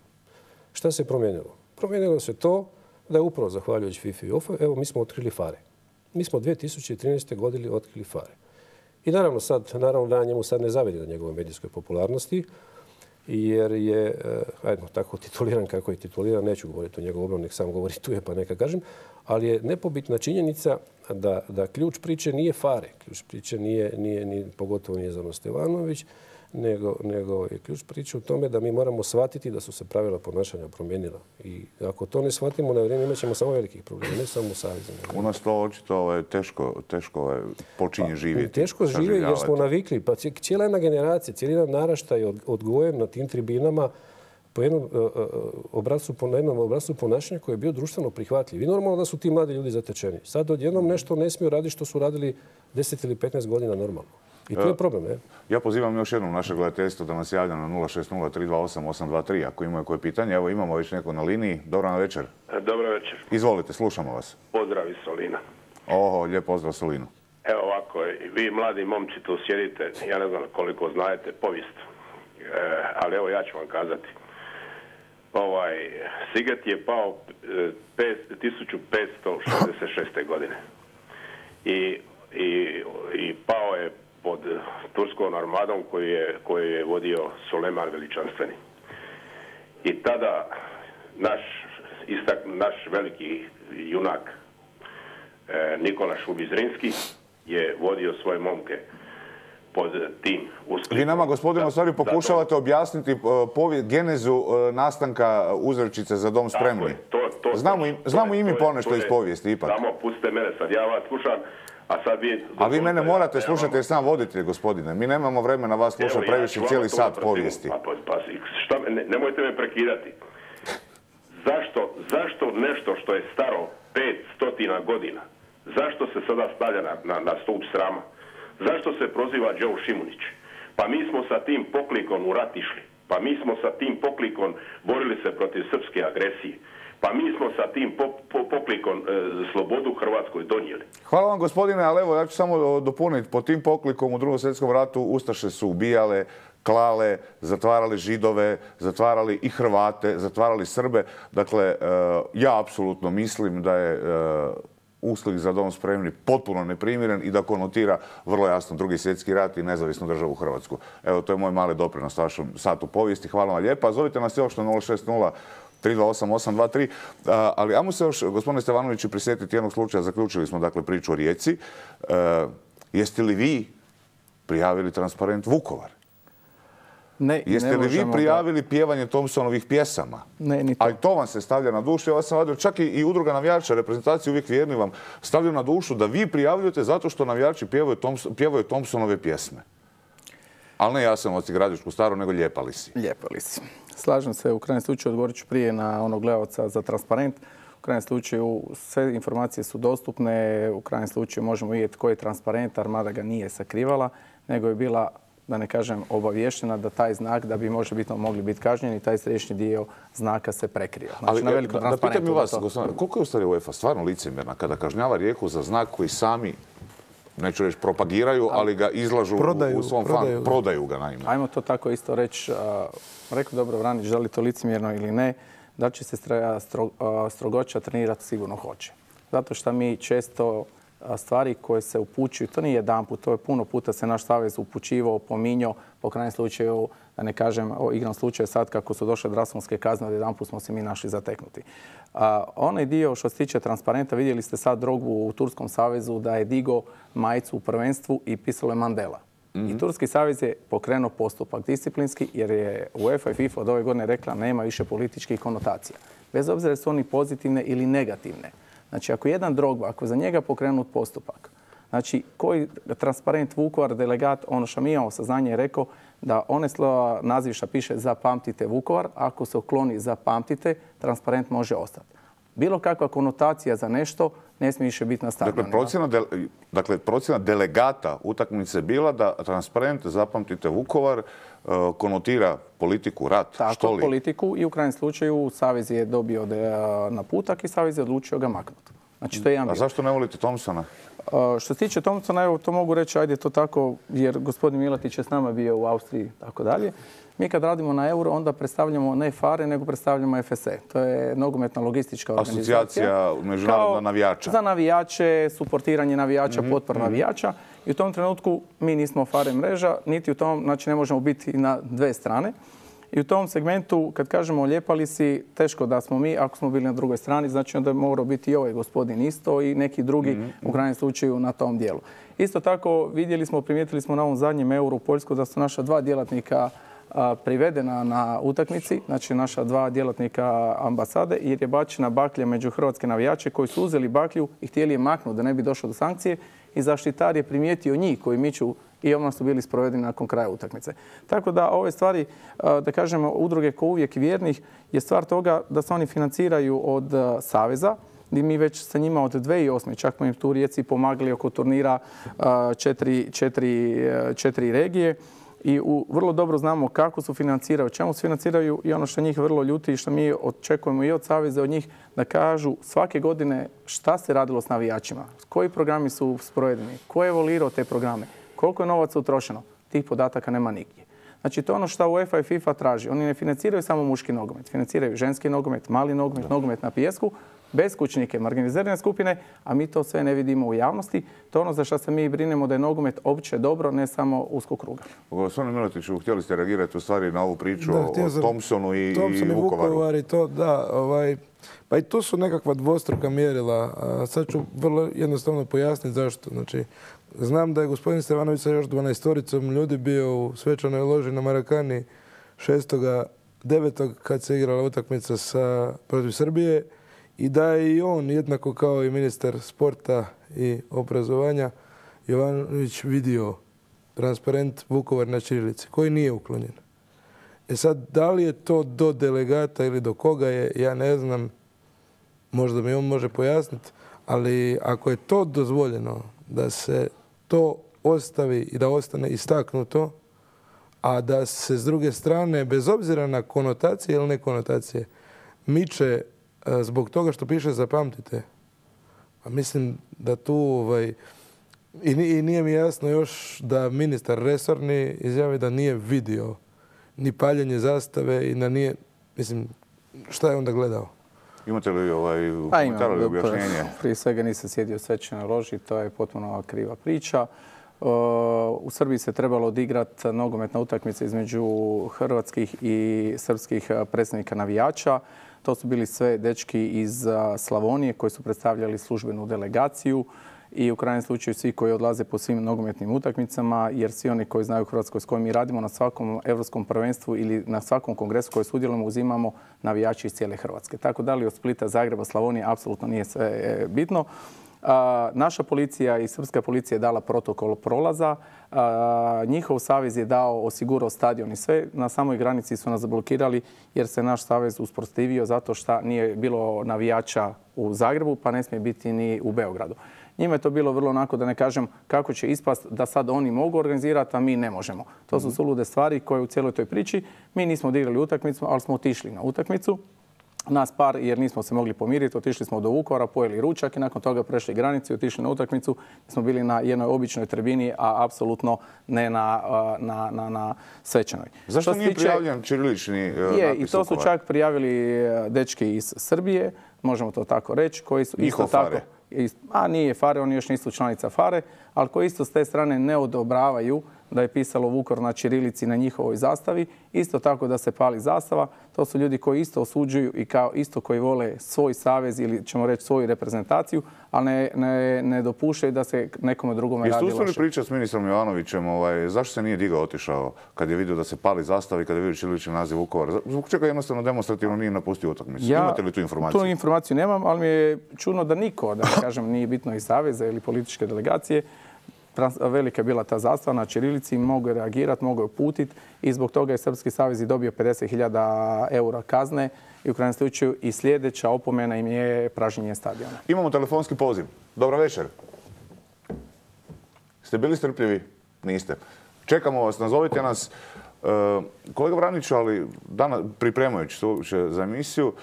Šta se promijenilo? Promijenilo se to da je upravo zahvaljujući FIFA i UEFA, evo mi smo otkrili FARE. Mi smo 2013. godine otkrili FARE. I naravno da njemu sad ne zavidi na njegovoj medijskoj popularnosti, jer je, tako tituliran kako je tituliran, neću govoriti o njegovom obranu, nek sam govori tu je pa neka kažem, ali je nepobitna činjenica da ključ priče nije FARE, ključ priče pogotovo nije Zoran Stevanović, nego je ključ priče u tome da mi moramo shvatiti da su se pravila ponašanja promijenila. I ako to ne shvatimo na vrijeme, imat ćemo samo velikih problema, ne samo u savezu. U nas to očito teško počinje živjeti. Teško živi jer smo navikli. Pa cijela jedna generacija, cijeli jedan naraštaj je odgojen na tim tribinama po jednom obrascu ponašanja koji je bio društveno prihvatljiv. I normalno da su ti mladi ljudi zatečeni. Sad odjednom nešto ne smiju raditi što su radili 10 ili 15 godina normalno. I to je problem, ne? Ja pozivam još jednom naše gledateljstvo da nas javlja na 060-328-823 ako imaju koje pitanje. Evo imamo već neko na liniji. Dobro večer. Dobro večer. Izvolite, slušamo vas. Pozdrav iz Solina. Lijep pozdrav Solinu. Evo ovako, vi mladi momci tu sjedite, ja ne znam koliko znajete povijest, ali evo ja ću vam kazati. Siget je pao 1566. godine i pao je pod turskom armadom koju je vodio Sulejman Veličanstveni. I tada naš veliki junak Nikola Šubić Zrinski je vodio svoje momke pod tim usklikom. Vi nama, gospodine, u stvari pokušavate objasniti genezu nastanka uzrečice Za dom spremni. Znamo i mi ponešto iz povijesti, ipak. Samo pustite mene sad, ja vas slušam. A vi mene morate slušati jer sam voditelj, gospodine. Mi nemamo vremena vas slušati previše cijeli sat povijesti. Nemojte me prekidati. Zašto nešto što je staro 500 godina, zašto se sada stavlja na stup srama? Zašto se proziva Joe Šimunić? Pa mi smo sa tim poklikom u rat išli. Pa mi smo sa tim poklikom borili se protiv srpske agresije. Pa mi smo sa tim poklikom slobodu Hrvatskoj donijeli. Hvala vam, gospodine, ali evo ja ću samo dopuniti. Po tim poklikom u Drugom svjetskom ratu Ustaše su ubijale, klale, zatvarali Židove, zatvarali i Hrvate, zatvarali Srbe. Dakle, ja apsolutno mislim da je uslugi za dom spremni potpuno neprimjeren i da konotira vrlo jasno Drugi svjetski rat i nezavisnu državu Hrvatsku. Evo, to je moj mali doprinos vašem satu povijesti. Hvala vam lijepa. Zovite nas još na 060 328 823. Ali ajmo se još, gospodine Stevanoviću, prisjetiti jednog slučaja. Zaključili smo dakle priču o Rijeci. Jeste li vi prijavili transparent Vukovar? Ne, jeste li vi prijavili pjevanje Thompsonovih pjesama? Ne, ni to. A i to vam se stavlja na dušu. Ja sam vadio, čak i udruga navijača, reprezentacije uvijek vjerni vam stavljaju na dušu da vi prijavljujete zato što navijači pjevaju Thompsonove pjesme. Ali ne Jasenovci, Gradišku Staru, nego Ljepali si. Ljepali si. Slažem se, u krajnjem slučaju odgovorit ću prije na onog gledalca za transparent. U krajnjem slučaju sve informacije su dostupne, u krajnjem slučaju možemo vidjeti koji je transparent, Armada ga nije sakrivala, nego je bila, da ne kažem, obavještena da taj znak, da bi možebitno mogli biti kažnjeni, taj središnji dio znaka se prekrio. Znači, ali da pitam i vas, gospodine, koliko je u stvari UEFA stvarno licemjerna kada kažnjava Rijeku za znak koji sami, neću reći propagiraju, ali ga izlažu u svom fanu, prodaju ga naime. Ajmo to tako isto reći, rekao dobro Vranić, da li to licemjerno ili ne, da će se strogoća trenirati, sigurno hoće. Zato što mi često stvari koje se upućuju, to nije jedanput, to je puno puta se naš savez upućivao, pominjao, po krajnjem slučaju, da ne kažem o igrom slučaju sad kako su došle drakonske kazne, jedanput smo se mi našli zateknuti. Onaj dio što se tiče transparenta, vidjeli ste sad Drogbu u Turskom savezu da je digao majicu u prvenstvu i pisalo je Mandela. I Turski savez je pokrenuo postupak disciplinski jer je UEFA i FIFA od ove godine rekla nema više političkih konotacija. Bez obzira su oni pozitivne ili negativne. Znači, ako jedan Drogba, ako je za njega pokrenut postupak, znači, koji transparent Vukovar, delegat, ono što mi imamo saznanje je rekao da one slova naziv što piše zapamtite Vukovar, ako se ukloni zapamtite, transparent može ostati. Bilo kakva konotacija za nešto ne smije više biti na stadionu. Dakle, procjena delegata utakmice bila da transparent zapamtite Vukovar konotira politiku, rat, što li? Tako, politiku i u krajnjem slučaju Savez je dobio naputak i Savez je odlučio ga maknuti. Znači, to je jedan. A zašto ne volite Thompsona? Što se tiče Thompsona, evo to mogu reći, ajde to tako, jer gospodin Milatić je s nama bio u Austriji i tako dalje. Mi kad radimo na euro, onda predstavljamo ne FARE, nego predstavljamo FSE. To je nogometna logistička organizacija. Asocijacija međunarodna navijača. Za navijače, suportiranje navijača, potpora navijača. I u tom trenutku mi nismo FARE mreža, niti u tom, znači ne možemo biti na dve strane. I u tom segmentu, kad kažemo Ljepali si, teško da smo mi, ako smo bili na drugoj strani, znači onda je morao biti i ovaj gospodin isto i neki drugi u krajnjem slučaju na tom dijelu. Isto tako vidjeli smo, primijetili smo na ovom zadnjem euru u Poljsku da su naša dva djelatnika privedena na utakmici, znači naša dva djelatnika ambasade, jer je bačena baklja među hrvatske navijače koji su uzeli baklju i htjeli je maknuti da ne bi došlo do sankcije i zaštitar je primijetio njih koji miču i odmah su bili sprovedeni nakon kraja utakmice. Tako da ove stvari, da kažemo, udruge ko uvijek vjernih je stvar toga da se oni financiraju od Saveza, gdje mi već sa njima od 2008. čak smo im tu u Rijeci pomagali oko turnira četiri regije. I vrlo dobro znamo kako su financiraju, čemu se financiraju i ono što njih vrlo ljuti i što mi očekujemo i od Saveza od njih da kažu svake godine šta se radilo s navijačima, koji programi su sprovedeni, ko je evoluirao te programe, koliko je novaca utrošeno. Tih podataka nema nigdje. Znači to je ono što UEFA i FIFA traži. Oni ne financiraju samo muški nogomet, financiraju ženski nogomet, mali nogomet, nogomet na pijesku, beskućnike, marginalizirane skupine, a mi to sve ne vidimo u javnosti. To je ono za što se mi brinemo da je nogomet opće dobro, ne samo uskog kruga. Gospodine Milatiću, htjeli ste reagirati u stvari na ovu priču o Thompsonu i Vukovaru? Pa i to su nekakva dvostruka mjerila. Sad ću vrlo jednostavno pojasniti zašto. Znači, znam da je gospodin Stevanović sa još 12-oricom ljudi bio u svečanoj loži na Marakani 6.9. kad se igrala utakmica protiv Srbije i da je i on, jednako kao i ministar sporta i obrazovanja, Jovanović vidio transparent Vukovar na ćirilici koji nije uklonjen. Sad, da li je to do delegata ili do koga je, ja ne znam, možda mi on može pojasniti, ali ako je to dozvoljeno da se to ostavi i da ostane istaknuto, a da se s druge strane, bez obzira na konotacije ili ne konotacije, miče zbog toga što piše zapamtite. A mislim da tu i nije mi jasno još da ministar resorni izjavi da nije vidio ni paljenje zastave i da nije, mislim, šta je onda gledao? Imate li komentar ili objašnjenje? Prije svega nisam sjedio u svečanoj loži, to je potpuno kriva priča. U Srbiji se trebalo odigrati nogometna utakmica između hrvatskih i srpskih predstavnika navijača. To su bili sve dečki iz Slavonije koji su predstavljali službenu delegaciju i u krajnjem slučaju svi koji odlaze po svim nogometnim utakmicama, jer svi oni koji znaju u Hrvatskoj s kojim mi radimo na svakom europskom prvenstvu ili na svakom kongresu koji sudjelujemo uzimamo navijači iz cijele Hrvatske. Tako da li od Splita, Zagreba, Slavonije apsolutno nije sve bitno. Naša policija i srpska policija je dala protokol prolaza. Njihov savez je osigurao stadion i sve. Na samoj granici su nas zablokirali jer se naš savez usprotivio zato što nije bilo navijača u Zagrebu pa ne smije biti ni u Beogradu. Njima je to bilo vrlo onako, da ne kažem kako će ispast da sad oni mogu organizirati, a mi ne možemo. To su sulude stvari koje u cijeloj toj priči. Mi nismo odigrali utakmicu, ali smo otišli na utakmicu. Nas par, jer nismo se mogli pomiriti, otišli smo do Vukovara, pojeli ručak i nakon toga prešli granicu i otišli na utakmicu. Smo bili na jednoj običnoj tribini, a apsolutno ne na svečanoj. Zašto nije prijavljen ćirilični natpis Vukovar? I to su čak prijavili dečki iz Srbije, možemo to tako reći, koji su isto tako... A nije FARE, oni još nisu članica FARE, ali koji isto s te strane ne odobravaju da je pisalo Vukovar na ćirilici na njihovoj zastavi. Isto tako da se pali zastava. To su ljudi koji isto osuđuju i kao isto koji vole svoj savez ili ćemo reći svoju reprezentaciju, ali ne dopuštaju da se nekome drugome radi loše. Jeste uspjeli pričati s ministrom Jovanovićem zašto se nije digao otišao kad je vidio da se pali zastavi, kad je vidio ćirilični naziv Vukovar? Zbog čega jednostavno demonstrativno nije napustio utakmicu? Imate li tu informaciju? Tu informaciju nemam, ali mi je čudno da niko, da ne kažem, nije bitno iz saveza ili političke delegacije. Velika je bila ta zastava na ćirilici, mogu je reagirati, mogu je uputiti i zbog toga je Srpski savez i dobio 50.000 eura kazne i u krajnjem slučaju i sljedeća opomena im je pražnjenje stadiona. Imamo telefonski poziv. Dobar večer. Ste bili strpljivi? Niste. Čekamo vas, nazovite nas. Kolega Vraniću, ali pripremajući se za emisiju,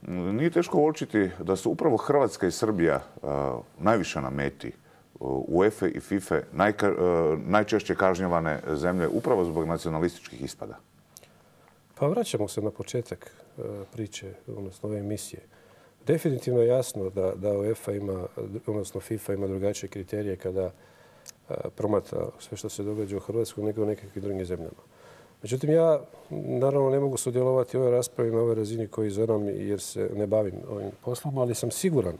nije teško uočiti da su upravo Hrvatska i Srbija najviše na meti UEFA i FIFA najčešće kažnjavane zemlje upravo zbog nacionalističkih ispada? Pa vraćamo se na početak priče, odnosno ove emisije. Definitivno je jasno da UEFA ima, odnosno FIFA ima drugačije kriterije kada promatra sve što se događa u Hrvatskoj nego u nekakvim drugim zemljama. Međutim, ja naravno ne mogu sudjelovati u ovoj raspravi na ovoj razini koji Zoran jer se ne bavim ovim poslom, ali sam siguran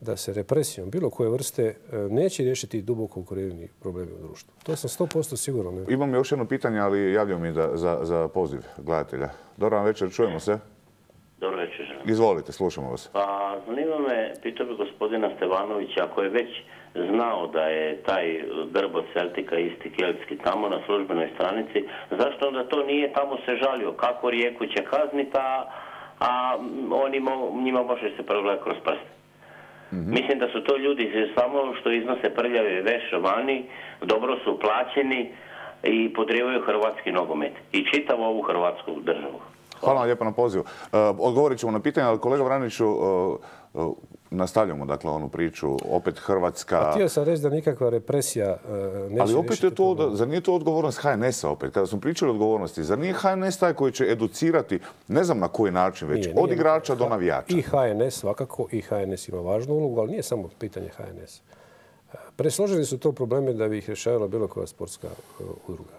da se represijom bilo koje vrste neće riješiti duboko ukorijeni problemi u društvu. To sam 100% siguran. Imam još jedno pitanje, ali javljaju mi za poziv gledatelja. Dobar večer, čujemo se. Dobro večer. Izvolite, slušamo vas. Pa, zanima me, pitao bi gospodina Stevanovića, ako je već znao da je taj grb od Celtika isti keltski tamo na službenoj stranici, zašto onda to nije tamo se žalio? Kako Rijeku će kazniti, a njima može se progledati kroz prste? Mislim da su to ljudi samo što iznose prljave veš vani, dobro su plaćeni i podrivaju hrvatski nogomet i čitavu ovu hrvatsku državu. Hvala vam lijepo na pozivu. Odgovorit ćemo na pitanje, ali kolega Vraniću, nastavljamo dakle onu priču, opet Hrvatska... A htio sam reći da nikakva represija neće... Ali opet je to, zar nije to odgovornost HNS-a opet? Kada smo pričali o odgovornosti, zar nije HNS taj koji će educirati, ne znam na koji način već, od igrača do navijača? I HNS svakako, i HNS ima važnu ulogu, ali nije samo pitanje HNS. Presloženi su to probleme da bi ih rješavala bilo koja sportska udruga.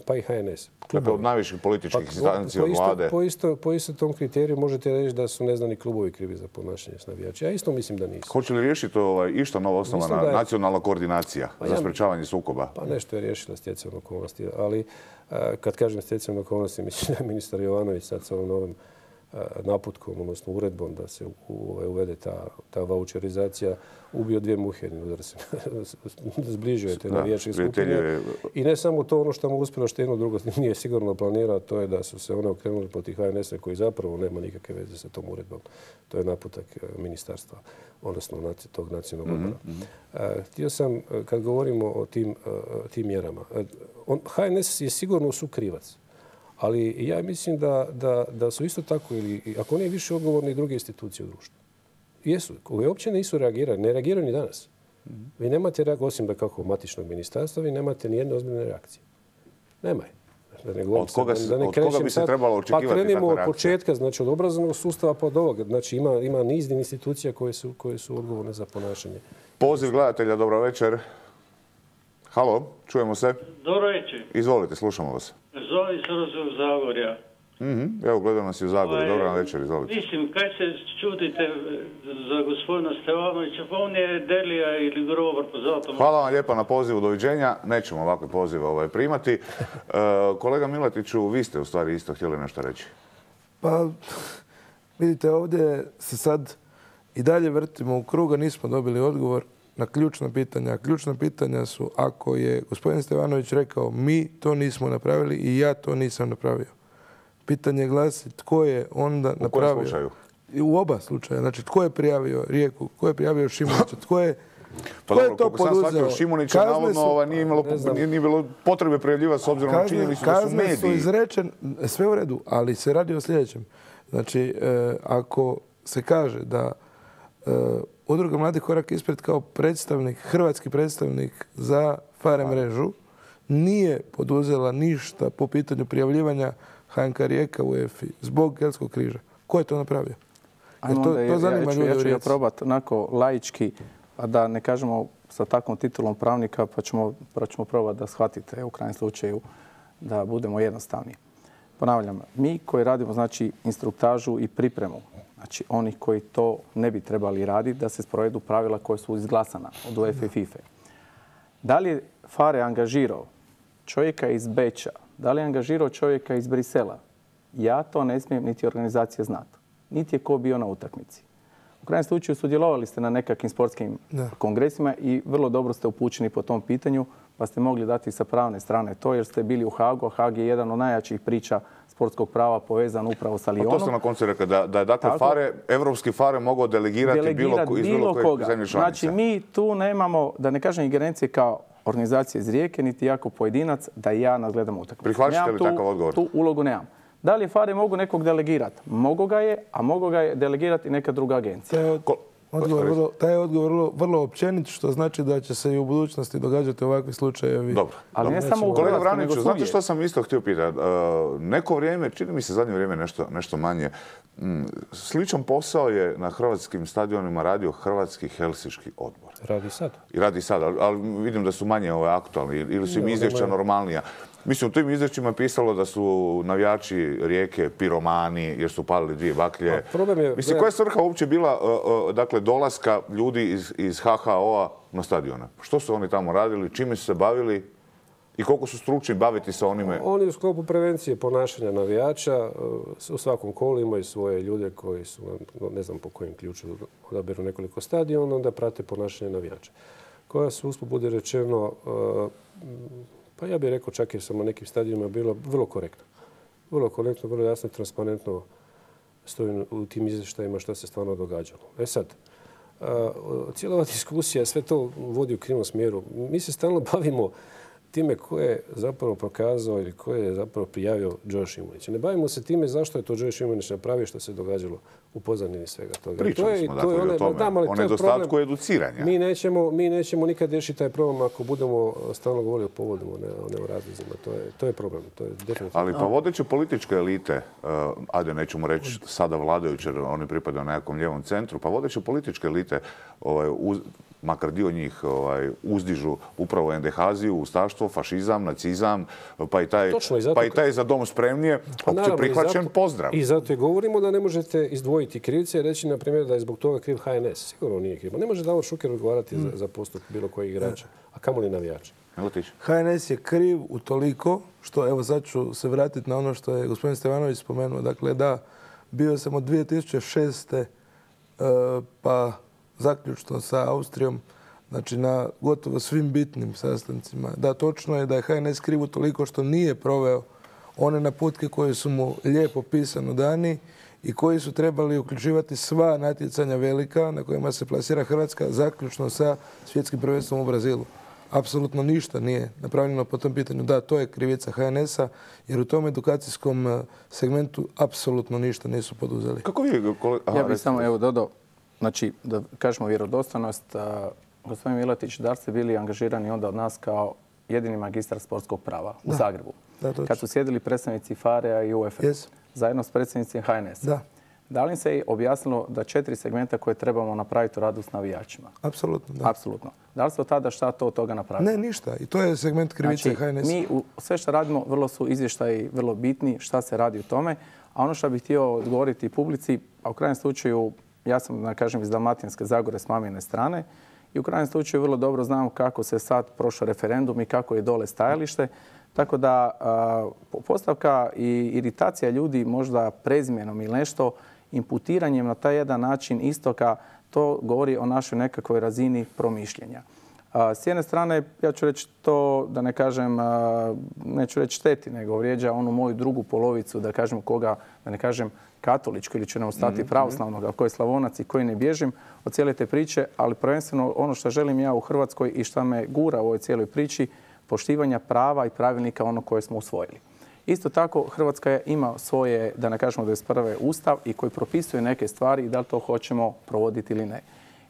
Pa i HNS. Dakle, od najviših političkih instancija, od vlade. Po istom tom kriteriju možete reći da su neznani klubovi krivi za ponašanje s navijači. Ja isto mislim da nisu. Hoće li riješiti išta novo osnovana nacionalna koordinacija za sprečavanje sukoba? Pa nešto je riješila stjecajem okolnosti. Ali kad kažem stjecajem okolnosti, mislim da je ministar Jovanović sad sa ovom novim naputkom, odnosno uredbom da se uvede ta vaučerizacija, ubio 2 muhe jednim udarcem. Zbližio je te navijačke skupine. I ne samo to, ono što mu uspjelo, što jedno drugo nije sigurno planirao, to je da su se one okrenuli protiv HNS-a koji zapravo nema nikakve veze sa tom uredbom. To je naputak ministarstva, odnosno tog nacionalnog odbora. Htio sam, kad govorimo o tim mjerama, HNS je sigurno sukrivac. Ali ja mislim da su isto tako, ili ako ne više odgovorni, druge institucije u društvu. Jesu, koje uopće nisu reagirali, ne reagiraju ni danas. Vi nemate, osim da kako matičnog ministarstva, vi nemate ni jedne ozbiljne reakcije. Nema je. Od koga bi se trebalo očekivati takva reakcija? Pa krenimo od reakcija? početka, znači od obrazovnog sustava pa od ovoga. Znači ima niz institucija koje su odgovorne za ponašanje. Poziv gledatelja, dobro večer. Halo, čujemo se. Dobro večer. Izvolite, slušamo vas. Zovem se iz Zagorja. Evo, gledam nas i u Zagorju. Dobro večer, izvolite. Mislim, kaj se čudite za gospodina Stevanovića, pa on je Delija ili Grobar, pa zato... Hvala vam lijepa na pozivu, doviđenja. Nećemo ovakve pozive primati. Kolega Miletiću, vi ste u stvari isto htjeli nešto reći. Pa, vidite, ovdje se sad i dalje vrtimo u kruga, nismo dobili odgovor na ključna pitanja. Ključna pitanja su, ako je gospodin Stevanović rekao mi to nismo napravili i ja to nisam napravio. Pitanje glasi tko je onda napravio. U kojem slučaju? U oba slučaja. Znači, tko je prijavio Rijeku, tko je prijavio Šimunića, tko je to poduzeo? Šimunića navodno nije bilo potrebe prijavljivati s obzirom na činjenicu da su mediji. Kazne su izrečene, sve u redu, ali se radi o sljedećem. Znači, ako se kaže da Udruga Mladi korak ispred kao hrvatski predstavnik za FARE mrežu nije poduzela ništa po pitanju prijavljivanja HNK Rijeka u UEFA zbog Keltskog križa. Ko je to napravio? Ja ću probati onako laički, a da ne kažemo sa takvom titulom pravnika, pa ćemo probati da shvatite u krajnjem slučaju da budemo jednostavni. Ponavljam, mi koji radimo znači instruktažu i pripremu, znači onih koji to ne bi trebali raditi, da se sprovedu pravila koje su izglasana od UEFA i FIFA. Da li je FARE angažirao čovjeka iz Beča, da li je angažirao čovjeka iz Brisela, ja to ne smijem niti organizacija znati. Niti je ko bio na utakmici. U krajnjem slučaju sudjelovali ste na nekakvim sportskim kongresima i vrlo dobro ste upućeni po tom pitanju, pa ste mogli dati sa pravne strane to jer ste bili u Hagu, a Hag je jedan od najjačih priča sportskog prava povezan upravo sa Lyonom. To ste na koncu rekli, da je dakle evropski FARE mogao delegirati iz bilo kojeg zemlje članice. Znači mi tu nemamo, da ne kažem ingerencije kao organizacija iz Rijeke, niti jako pojedinac, da ja nadgledam utakmicu. Prihvaćate li takav odgovor? Tu ulogu nemam. Da li je FARE mogu nekog delegirati? Mogu ga je, a mogu ga je delegirati neka druga agencija. Taj je odgovor vrlo općenit, što znači da će se i u budućnosti događati ovakvi slučajevi. Dobro. Ali ne samo u Kolega Hrvatskoj, nego Vraniću, znate što sam isto htio pitati? Neko vrijeme, čini mi se zadnje vrijeme nešto manje, sličan posao je na hrvatskim stadionima radio Hrvatski helsinški odbor. Radi sad. Ali vidim da su manje aktualni ili su im izvješća normalnija. Mislim, u tim izvješćima je pisalo da su navijači Rijeke piromani jer su palili 2 baklje. Mislim, koja je svrha uopće bila dolaska ljudi iz HHO-a na stadione? Što su oni tamo radili, čime su se bavili i koliko su stručni baviti sa onime? Oni u sklopu prevencije ponašanja navijača u svakom kolu imaju svoje ljude koji su, ne znam po kojem ključu, odaberu nekoliko stadiona, onda prate ponašanje navijača. Koja su, usput bude rečeno, pa ja bih rekao čak i sam na nekim stadionima bilo vrlo korektno. Vrlo korektno, vrlo jasno i transparentno stoji u tim izvještajima što se stvarno događalo. Sad, cijela ova diskusija sve to vodi u krivom smjeru. Mi se stalno bavimo time ko je zapravo prokazao ili ko je zapravo prijavio Joe Šimunića. Ne bavimo se time zašto je to Joe Šimunić napravio što se događalo u pozadini svega toga. Pričali smo dakle o tome, o nedostatku educiranja. Mi nećemo nikad riješiti taj problem ako budemo stalno govorili o povodima, ne o razlozima. To je problem. To je definitivno. Ali pa vodeće političke elite, ajde nećemo reći sada vladajuće, jer oni pripadaju nekakvom lijevom centru, pa vodeće političke elite makar dio njih uzdižu upravo endehaziju, ustaštvo, fašizam, nacizam, pa i taj za dom spremnije, opće prihvaćen pozdrav. I zato je govorimo da ne možete izdvojiti krivce i reći, na primjer, da je zbog toga kriv HNS. Sigurno nije kriv. Ne može Davor Šuker odgovarati za postup bilo kojeg igrača, a kamoli navijača. HNS je kriv utoliko što, evo sad ću se vratiti na ono što je gospodin Stevanović spomenuo. Dakle, da, bio sam od 2006. pa zaključno sa Austrijom, znači na gotovo svim bitnim sastancima. Da, točno je da je HNS kriv toliko što nije proveo one naputke koje su mu lijepo pisano dani i koji su trebali uključivati sva natjecanja velika na kojima se plasira Hrvatska, zaključno sa svjetskim prvenstvom u Brazilu. Apsolutno ništa nije napravljeno po tom pitanju. Da, to je krivica HNS-a, jer u tom edukacijskom segmentu apsolutno ništa nisu poduzeli. Kako vi... Ja bih samo dodao, znači, da kažemo vjerodostojnost, gospodin Miletić, da li ste bili angažirani onda od nas kao jedini magistar sportskog prava u Zagrebu. Da, kad su sjedili predstavnici FARE-a i UEFA zajedno s predsjednicima HNS-a. Da li im se objasnilo da 4 segmenta koje trebamo napraviti u radu s navijačima? Apsolutno, da. Apsolutno. Da li ste od tada šta to od toga napravili? Ne, ništa. I to je segment krivice HNS. Mi sve što radimo, vrlo su izvještaji vrlo bitni, šta se radi u tome. A ono što bih htio odgovoriti publici, a u krajnjem slučaju, ja sam, da kažem, iz Dalmatinske Zagore s mamine strane i u krajnjem slučaju vrlo dobro znam kako se sad prošao referendum i kako je dole stajalište. Tako da postavka i iritacija ljudi možda prezimjenom ili nešto, imputiranjem na taj jedan način istoka, to govori o našoj nekakvoj razini promišljenja. S jedne strane, ja ću reći to, da ne kažem, neću reći šteti, nego vrijeđa onu moju drugu polovicu, da kažem koga, da ne kažem katoličko ili ću ne ostati pravoslavnog, a koji je Slavonac i koji ne bježim od cijele te priče, ali prvenstveno ono što želim ja u Hrvatskoj i što me gura u ovoj cijeloj priči, poštivanja prava i pravilnika ono koje smo usvojili. Isto tako, Hrvatska ima svoje, da ne kažemo 21. ustav i koji propisuje neke stvari i da li to hoćemo provoditi ili ne.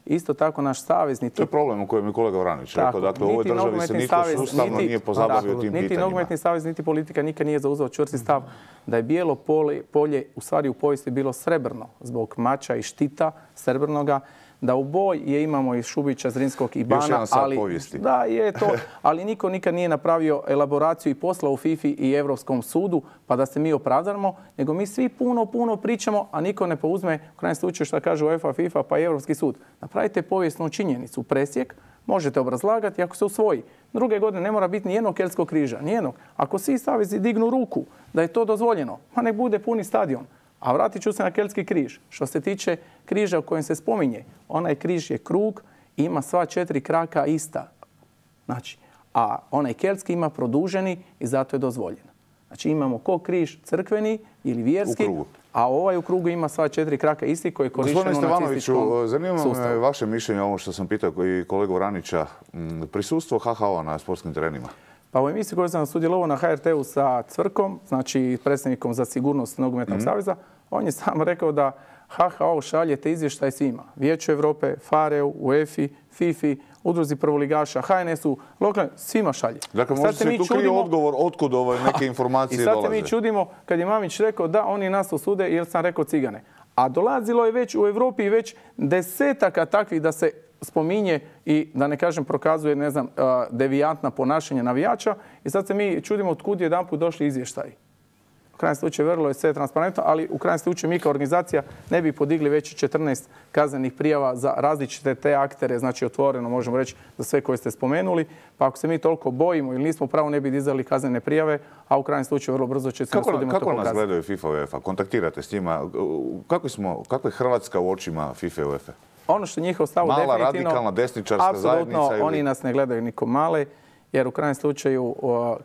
Isto tako, naš savezni... To je problem u kojem je kolega Vranić rekao. Dakle, u ovoj državi se nitko sustavno nije pozabavio tim pitanjima. Niti nogometni savez, niti politika nikad nije zauzeo čvrsti stav da je bijelo polje u stvari u povijesti bilo srebrno zbog mača i štita srebrnoga, da u boj je imamo iz Šubića, Zrinskog i Bana. Još jedan sad povijesti. Da, je to. Ali niko nikad nije napravio elaboraciju i posla u FIFA i Europskom sudu pa da se mi opravdamo, nego mi svi puno pričamo, a niko ne pouzme u krajnjem slučaju što kaže UEFA, FIFA pa i Europski sud. Napravite povijesnu činjenicu, presjek, možete obrazlagati ako se usvoji. Druge godine ne mora biti ni jednog keltskog križa, ni jednog. Ako svi savezi dignu ruku da je to dozvoljeno, pa nek bude puni stadion. A vratit ću se na keltski križ. Što se tiče križa u kojem se spominje, onaj križ je krug i ima sva 4 kraka ista. Znači, a onaj keltski ima produženi i zato je dozvoljen. Znači imamo ko križ crkveni ili vjerski, a ovaj u krugu ima sva 4 kraka isti koji je korišten u nacističkom sustavu. Zanima me vaše mišljenje o ovo što sam pitao i kolegu Vranića. Prisustvo HHO na sportskim terenima. Pa u emisiji koju sam sudjelovao na HRT-u sa Cvrkom, znači predsjednikom za sigurnost Nogometnog saveza, on je sam rekao da HHO šalje te izvještaje svima. Vijeću Europe, FARE-u, UEFA-i, FIFA-i, udruzi prvoligaša, HNS-u, lokalno, svima šalje. Dakle, možda se tu krije odgovor otkud neke informacije dolaze. I sad se mi čudimo kad je Mamić rekao da oni nas osude jer sam rekao cigane. A dolazilo je već u Europi već desetaka takvih da se spominje i da ne kažem prokazuje, ne znam, devijantna ponašanja navijača i sad se mi čudimo otkud jedanput došli izvještaji. U krajnjem slučaju vrlo je sve transparentno, ali u krajnjem slučaju mi kao organizacija ne bi podigli već 14 kaznenih prijava za različite te aktere, znači otvoreno možemo reći za sve koje ste spomenuli, pa ako se mi toliko bojimo ili nismo pravo ne bi dizali kaznene prijave, a u krajnjem slučaju vrlo brzo će se na sudima to pokazati. Kako nas gledaju FIFA i UEFA? Kontaktirate s njima? Kako je Hrvatska u očima FIFA i UEFA? Ono što je njihov stav definitivno... Mala, radikalna, desničarska zajednica? Apsolutno, oni nas ne gledaju niko male, jer u krajnjem slučaju,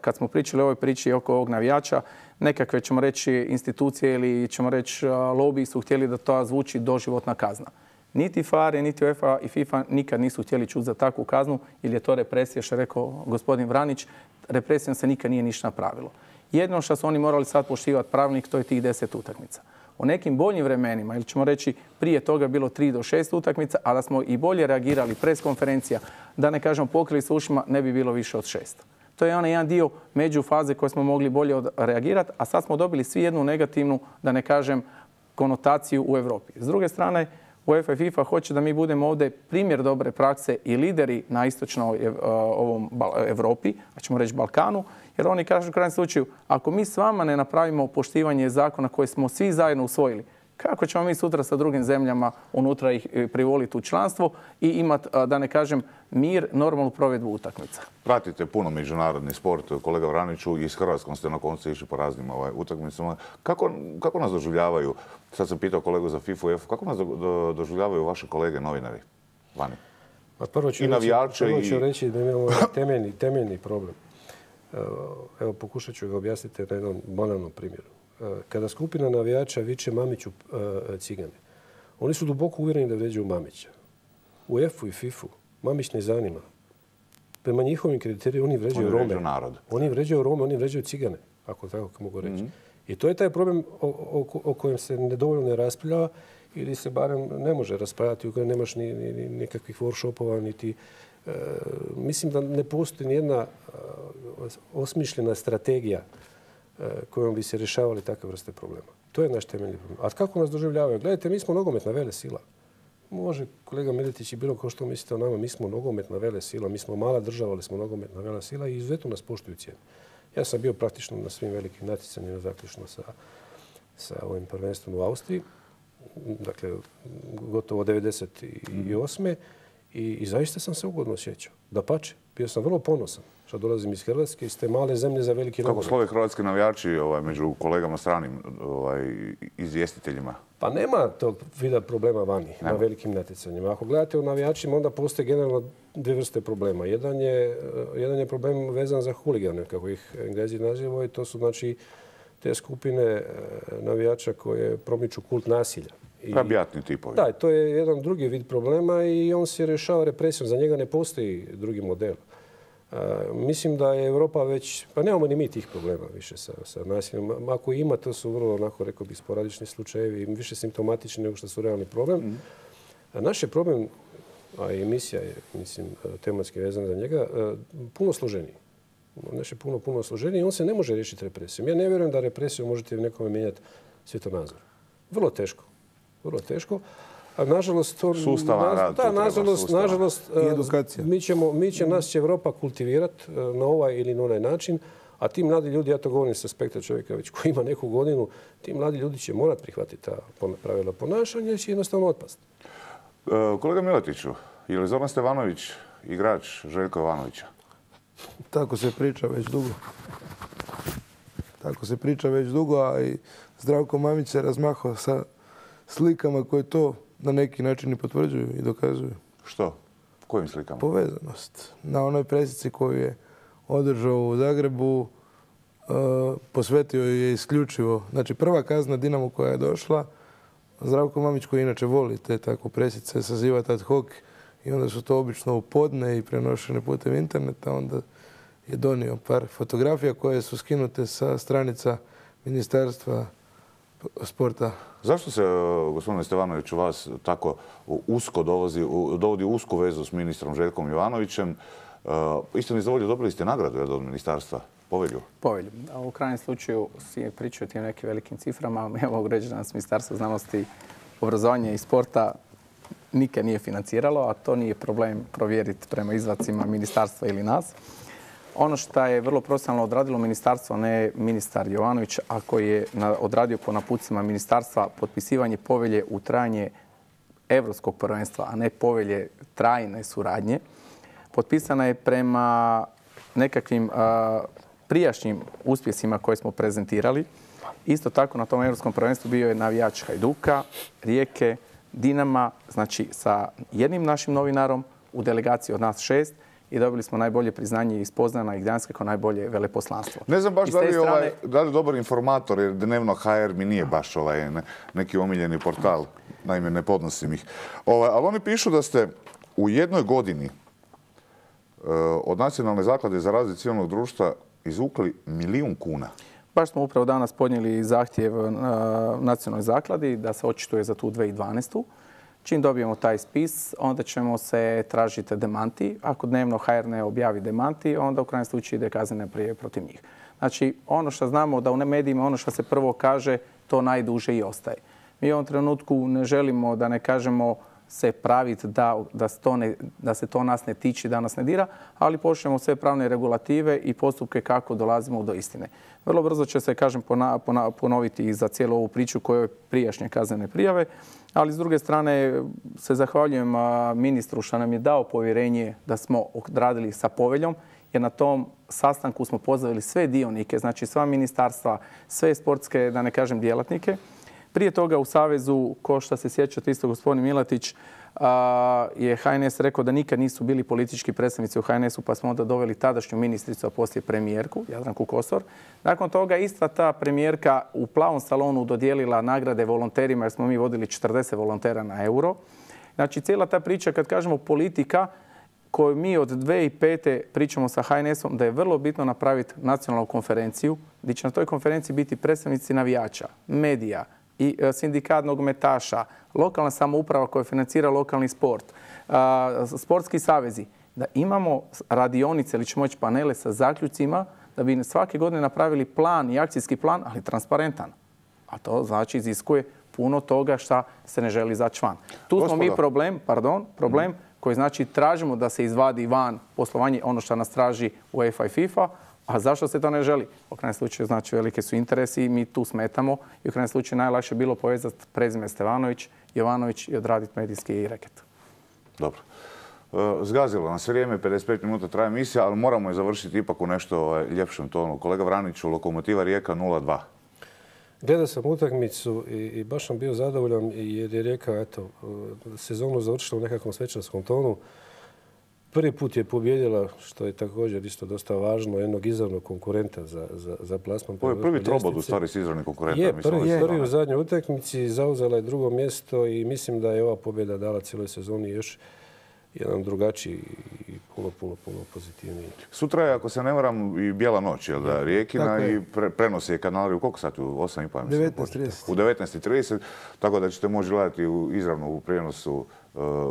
kad smo pričali o ovoj priči oko ovog navijača, nekakve, ćemo reći, institucije ili, ćemo reći, lobiji su htjeli da to zvuči doživotna kazna. Niti FARE, niti UEFA i FIFA nikad nisu htjeli čuti za takvu kaznu, jer je to represija, što je rekao gospodin Vranić, represijom se nikad nije ništa napravilo. Jedno što su oni morali sad poštivati pravilnik, to je tih 10 utakmica. U nekim boljim vremenima, ili ćemo reći prije toga bilo 3 do 6 utakmica, a da smo i bolje reagirali, preskonferencija, da ne kažemo pokrili s ušima, ne bi bilo više od 6. To je onaj jedan dio međufaze koje smo mogli bolje reagirati, a sad smo dobili svi jednu negativnu, da ne kažem, konotaciju u Europi. S druge strane, UEFA i FIFA hoće da mi budemo ovdje primjer dobre prakse i lideri na istočnoj Europi, a ćemo reći Balkanu, jer oni kažu u krajnjem slučaju, ako mi s vama ne napravimo poštivanje zakona koje smo svi zajedno usvojili, kako ćemo mi sutra sa drugim zemljama unutra ih privoliti u članstvo i imati, da ne kažem, mir, normalnu provedbu utakmica? Pratite puno međunarodni sport, kolega Vraniću, i s Hrvatskom ste na koncu išli po raznim utakmicama. Kako nas doživljavaju, sad sam pitao kolegu za FIFA i UEFA, kako nas doživljavaju vaše kolege novinari vani? Prvo ću reći da imamo temeljni problem. Evo, pokušat ću ga objasniti na jednom banalnom primjeru. Kada skupina navijača viče Mamiću cigane, oni su duboko uvjereni da vređaju Mamića. U UEFA-u i FIFA-u Mamić ne zanima. Prema njihovim kriterijima oni vređaju Rome. Oni vređaju Rome, oni vređaju cigane, ako tako mogu reći. I to je taj problem o kojem se nedovoljno ne raspravlja ili se barem ne može raspravljati, u kojem nemaš ni nekakvih workshopova, niti Mislim da ne postoji nijedna osmišljena strategija kojom bi se rješavali takve vrste problema. To je naš temeljni problem. A kako nas doživljavaju? Gledajte, mi smo nogometna velesila. Može kolega Miletić i bilo ko što mislite o nama, mi smo nogometna velesila, mi smo mala država, ali smo nogometna velesila i izuzetno nas poštuju cijene. Ja sam bio praktično na svim velikim natjecanjima, zaključno sa ovim prvenstvom u Austriji, dakle gotovo 1998. I zaista sam se ugodno osjećao. Dapače, bio sam vrlo ponosan što dolazim iz Hrvatske, iz te male zemlje za veliki nogomet. Kako slove hrvatski navijači među kolegama stranim izvjestiteljima? Pa nema tog vida problema vani na velikim natjecanjima. Ako gledate u navijačima, onda postoje generalno dvije vrste problema. Jedan je problem vezan za huligane, kako ih Englezi nazivaju. To su znači te skupine navijača koje promiču kult nasilja. Rabijatni tipovi. Da, to je jedan drugi vid problema i on se rješava represijom. Za njega ne postoji drugi model. Mislim da je Europa već, pa nemamo ni mi tih problema više sa nasiljem. Ako ima, to su vrlo, onako rekao bih, sporadični slučajevi i više simptomatični nego što su realni problem. Naš je problem, a i emisija je, mislim, tematski vezana za njega, puno složeniji. Naš je puno složeniji i on se ne može riješiti represijom. Ja ne vjerujem da represijom možete nekome mijenjati svjetonazor. Vrlo teško. Vrlo teško. A nažalost, sustavan rad. Da, nažalost, nas će Europa kultivirati na ovaj ili na onaj način, a ti mladi ljudi, ja to govorim sa aspekta čovjeka već koji ima neku godinu, ti mladi ljudi će morati prihvatiti ta pravila ponašanja i će jednostavno otpasti. Kolega Miletiću, je li Zoran Stevanović igrač Željka Jovanovića? Tako se priča već dugo. A i Zdravko Mamić se razmahao sa slikama koje to na neki način i potvrđuju i dokazuju. Što? Kojim slikama? Povezanost. Na onoj presici koju je održao u Zagrebu posvetio je isključivo. Znači prva kazna Dinamo koja je došla, Zdravko Mamić koji inače voli te tako presice sazivati ad hoc i onda su to obično u podne i prenošene putem interneta, onda je donio par fotografija koje su skinute sa stranica Ministarstva sporta. Zašto se, gospodine Stevanoviću, vas tako usko dovodi u usku vezu s ministrom Željkom Jovanovićem? Istini za volju, dobili ste nagradu od ministarstva, povelju? Povelju. U krajnjem slučaju si pričaju o tim nekim velikim ciframa. Ja mogu reći da nas Ministarstvo znanosti, obrazovanja i sporta nikad nije financiralo, a to nije problem provjeriti prema izvacima ministarstva ili nas. Ono što je vrlo profesionalno odradilo ministarstvo, a ne ministar Jovanović, a koji je odradio po napucima ministarstva potpisivanje povelje u trajanje Europskog prvenstva, a ne povelje trajne suradnje, potpisana je prema nekakvim prijašnjim uspjesima koje smo prezentirali. Isto tako na tom Europskom prvenstvu bio je navijač Hajduka, Rijeke, Dinama, znači sa jednim našim novinarom u delegaciji od nas 6 i dobili smo najbolje priznanje iz Poznana i Gdanska kao najbolje veleposlanstvo. Ne znam baš da li je dobar informator, jer Dnevno HR mi nije baš neki omiljeni portal. Naime, ne podnosim ih. Ali oni pišu da ste u jednoj godini od Nacionalne zaklade za razvoj civilnog društva izvukli 1 milijun kuna. Baš smo upravo danas podnijeli zahtjev Nacionalnoj zakladi da se očituje za tu 2012. Čim dobijemo taj spis, onda ćemo se tražiti demanti. Ako Dnevno HR ne objavi demanti, onda u krajnjem slučaju ide kaznena prijava protiv njih. Znači, ono što znamo da u medijima, ono što se prvo kaže, to najduže i ostaje. Mi u ovom trenutku ne želimo, da ne kažemo, se praviti da se to nas ne tiče, da nas ne dira, ali poštujemo sve pravne regulative i postupke kako dolazimo do istine. Vrlo brzo će se, kažem, ponoviti i za cijelu ovu priču koje je prijašnje kaznene prijave, ali s druge strane se zahvaljujem ministru što nam je dao povjerenje da smo odradili sa poveljom, jer na tom sastanku smo pozvali sve dionike, znači sva ministarstva, sve sportske, da ne kažem, djelatnike. Prije toga u Savezu, ko što se sjećate isto gospodin Miletić, je HNS rekao da nikad nisu bili politički predstavnici u HNS-u, pa smo onda doveli tadašnju ministricu, a poslije premijerku, Jadranku Kosor. Nakon toga ista ta premijerka u Plavom salonu dodijelila nagrade volonterima, jer smo mi vodili 40 volontera na euro. Znači, cijela ta priča, kad kažemo politika, koju mi od 2005. pričamo sa HNS-om, da je vrlo bitno napraviti nacionalnu konferenciju, gdje će na toj konferenciji biti predstavnici navijača, medija, i sindikat nogometaša, lokalna samouprava koja financira lokalni sport, sportski savezi. da imamo radionice ili ćemo moći panele sa zaključcima da bi svake godine napravili plan i akcijski plan, ali transparentan. A to znači iziskuje puno toga šta se ne želi izaći van. Tu smo mi problem koji znači tražimo da se izvadi van poslovanje, ono što nas traži UEFA i FIFA, a zašto se to ne želi? U krajnjem slučaju znači velike su interesi i mi tu smetamo i u krajnjem slučaju najlakše je bilo povezati prezime Stevanović, Jovanović i odraditi medijski reket. Dobro. Zgazilo nas vrijeme, 55 minuta traje emisija, ali moramo je završiti ipak u nešto ljepšem tonu. Kolega Vraniću, Lokomotiva Rijeka 0-2. Gledao sam utakmicu i baš sam bio zadovoljan jer je Rijeka sezonu završila u nekakvom svečarskom tonu. Prvi put je pobijedila, što je također isto dosta važno, jednog izravnog konkurenta za plasman. Ovo je prvi trobod u stvari s izravnim konkurentom. Je, prvi u zadnjoj utakmici, zauzela je drugo mjesto i mislim da je ova pobjeda dala cijeloj sezoni još jedan drugačiji i puno pozitivniji. Sutra je, ako se ne varam, i Bijela noć, jel da, Rijekina i prenosi je kanali u koliko sati? U 8:30? 19:30. U 19:30, tako da ćete moći gledati izravno u prijenosu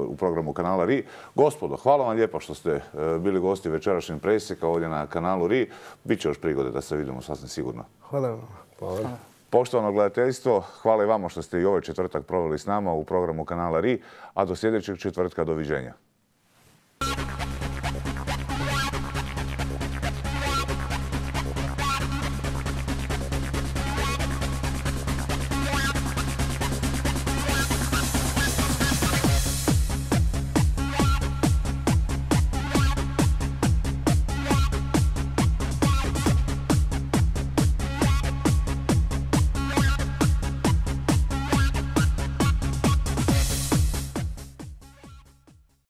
u programu kanala RI. Gospodo, hvala vam lijepo što ste bili gosti večerašnjeg presjeka ovdje na kanalu RI. Biće još prigode da se vidimo sasvim sigurno. Hvala vam. Hvala. Poštovano gledateljstvo, hvala i vama što ste i ovaj četvrtak proveli s nama u programu kanala RI, a do sljedećeg četvrtka doviđenja.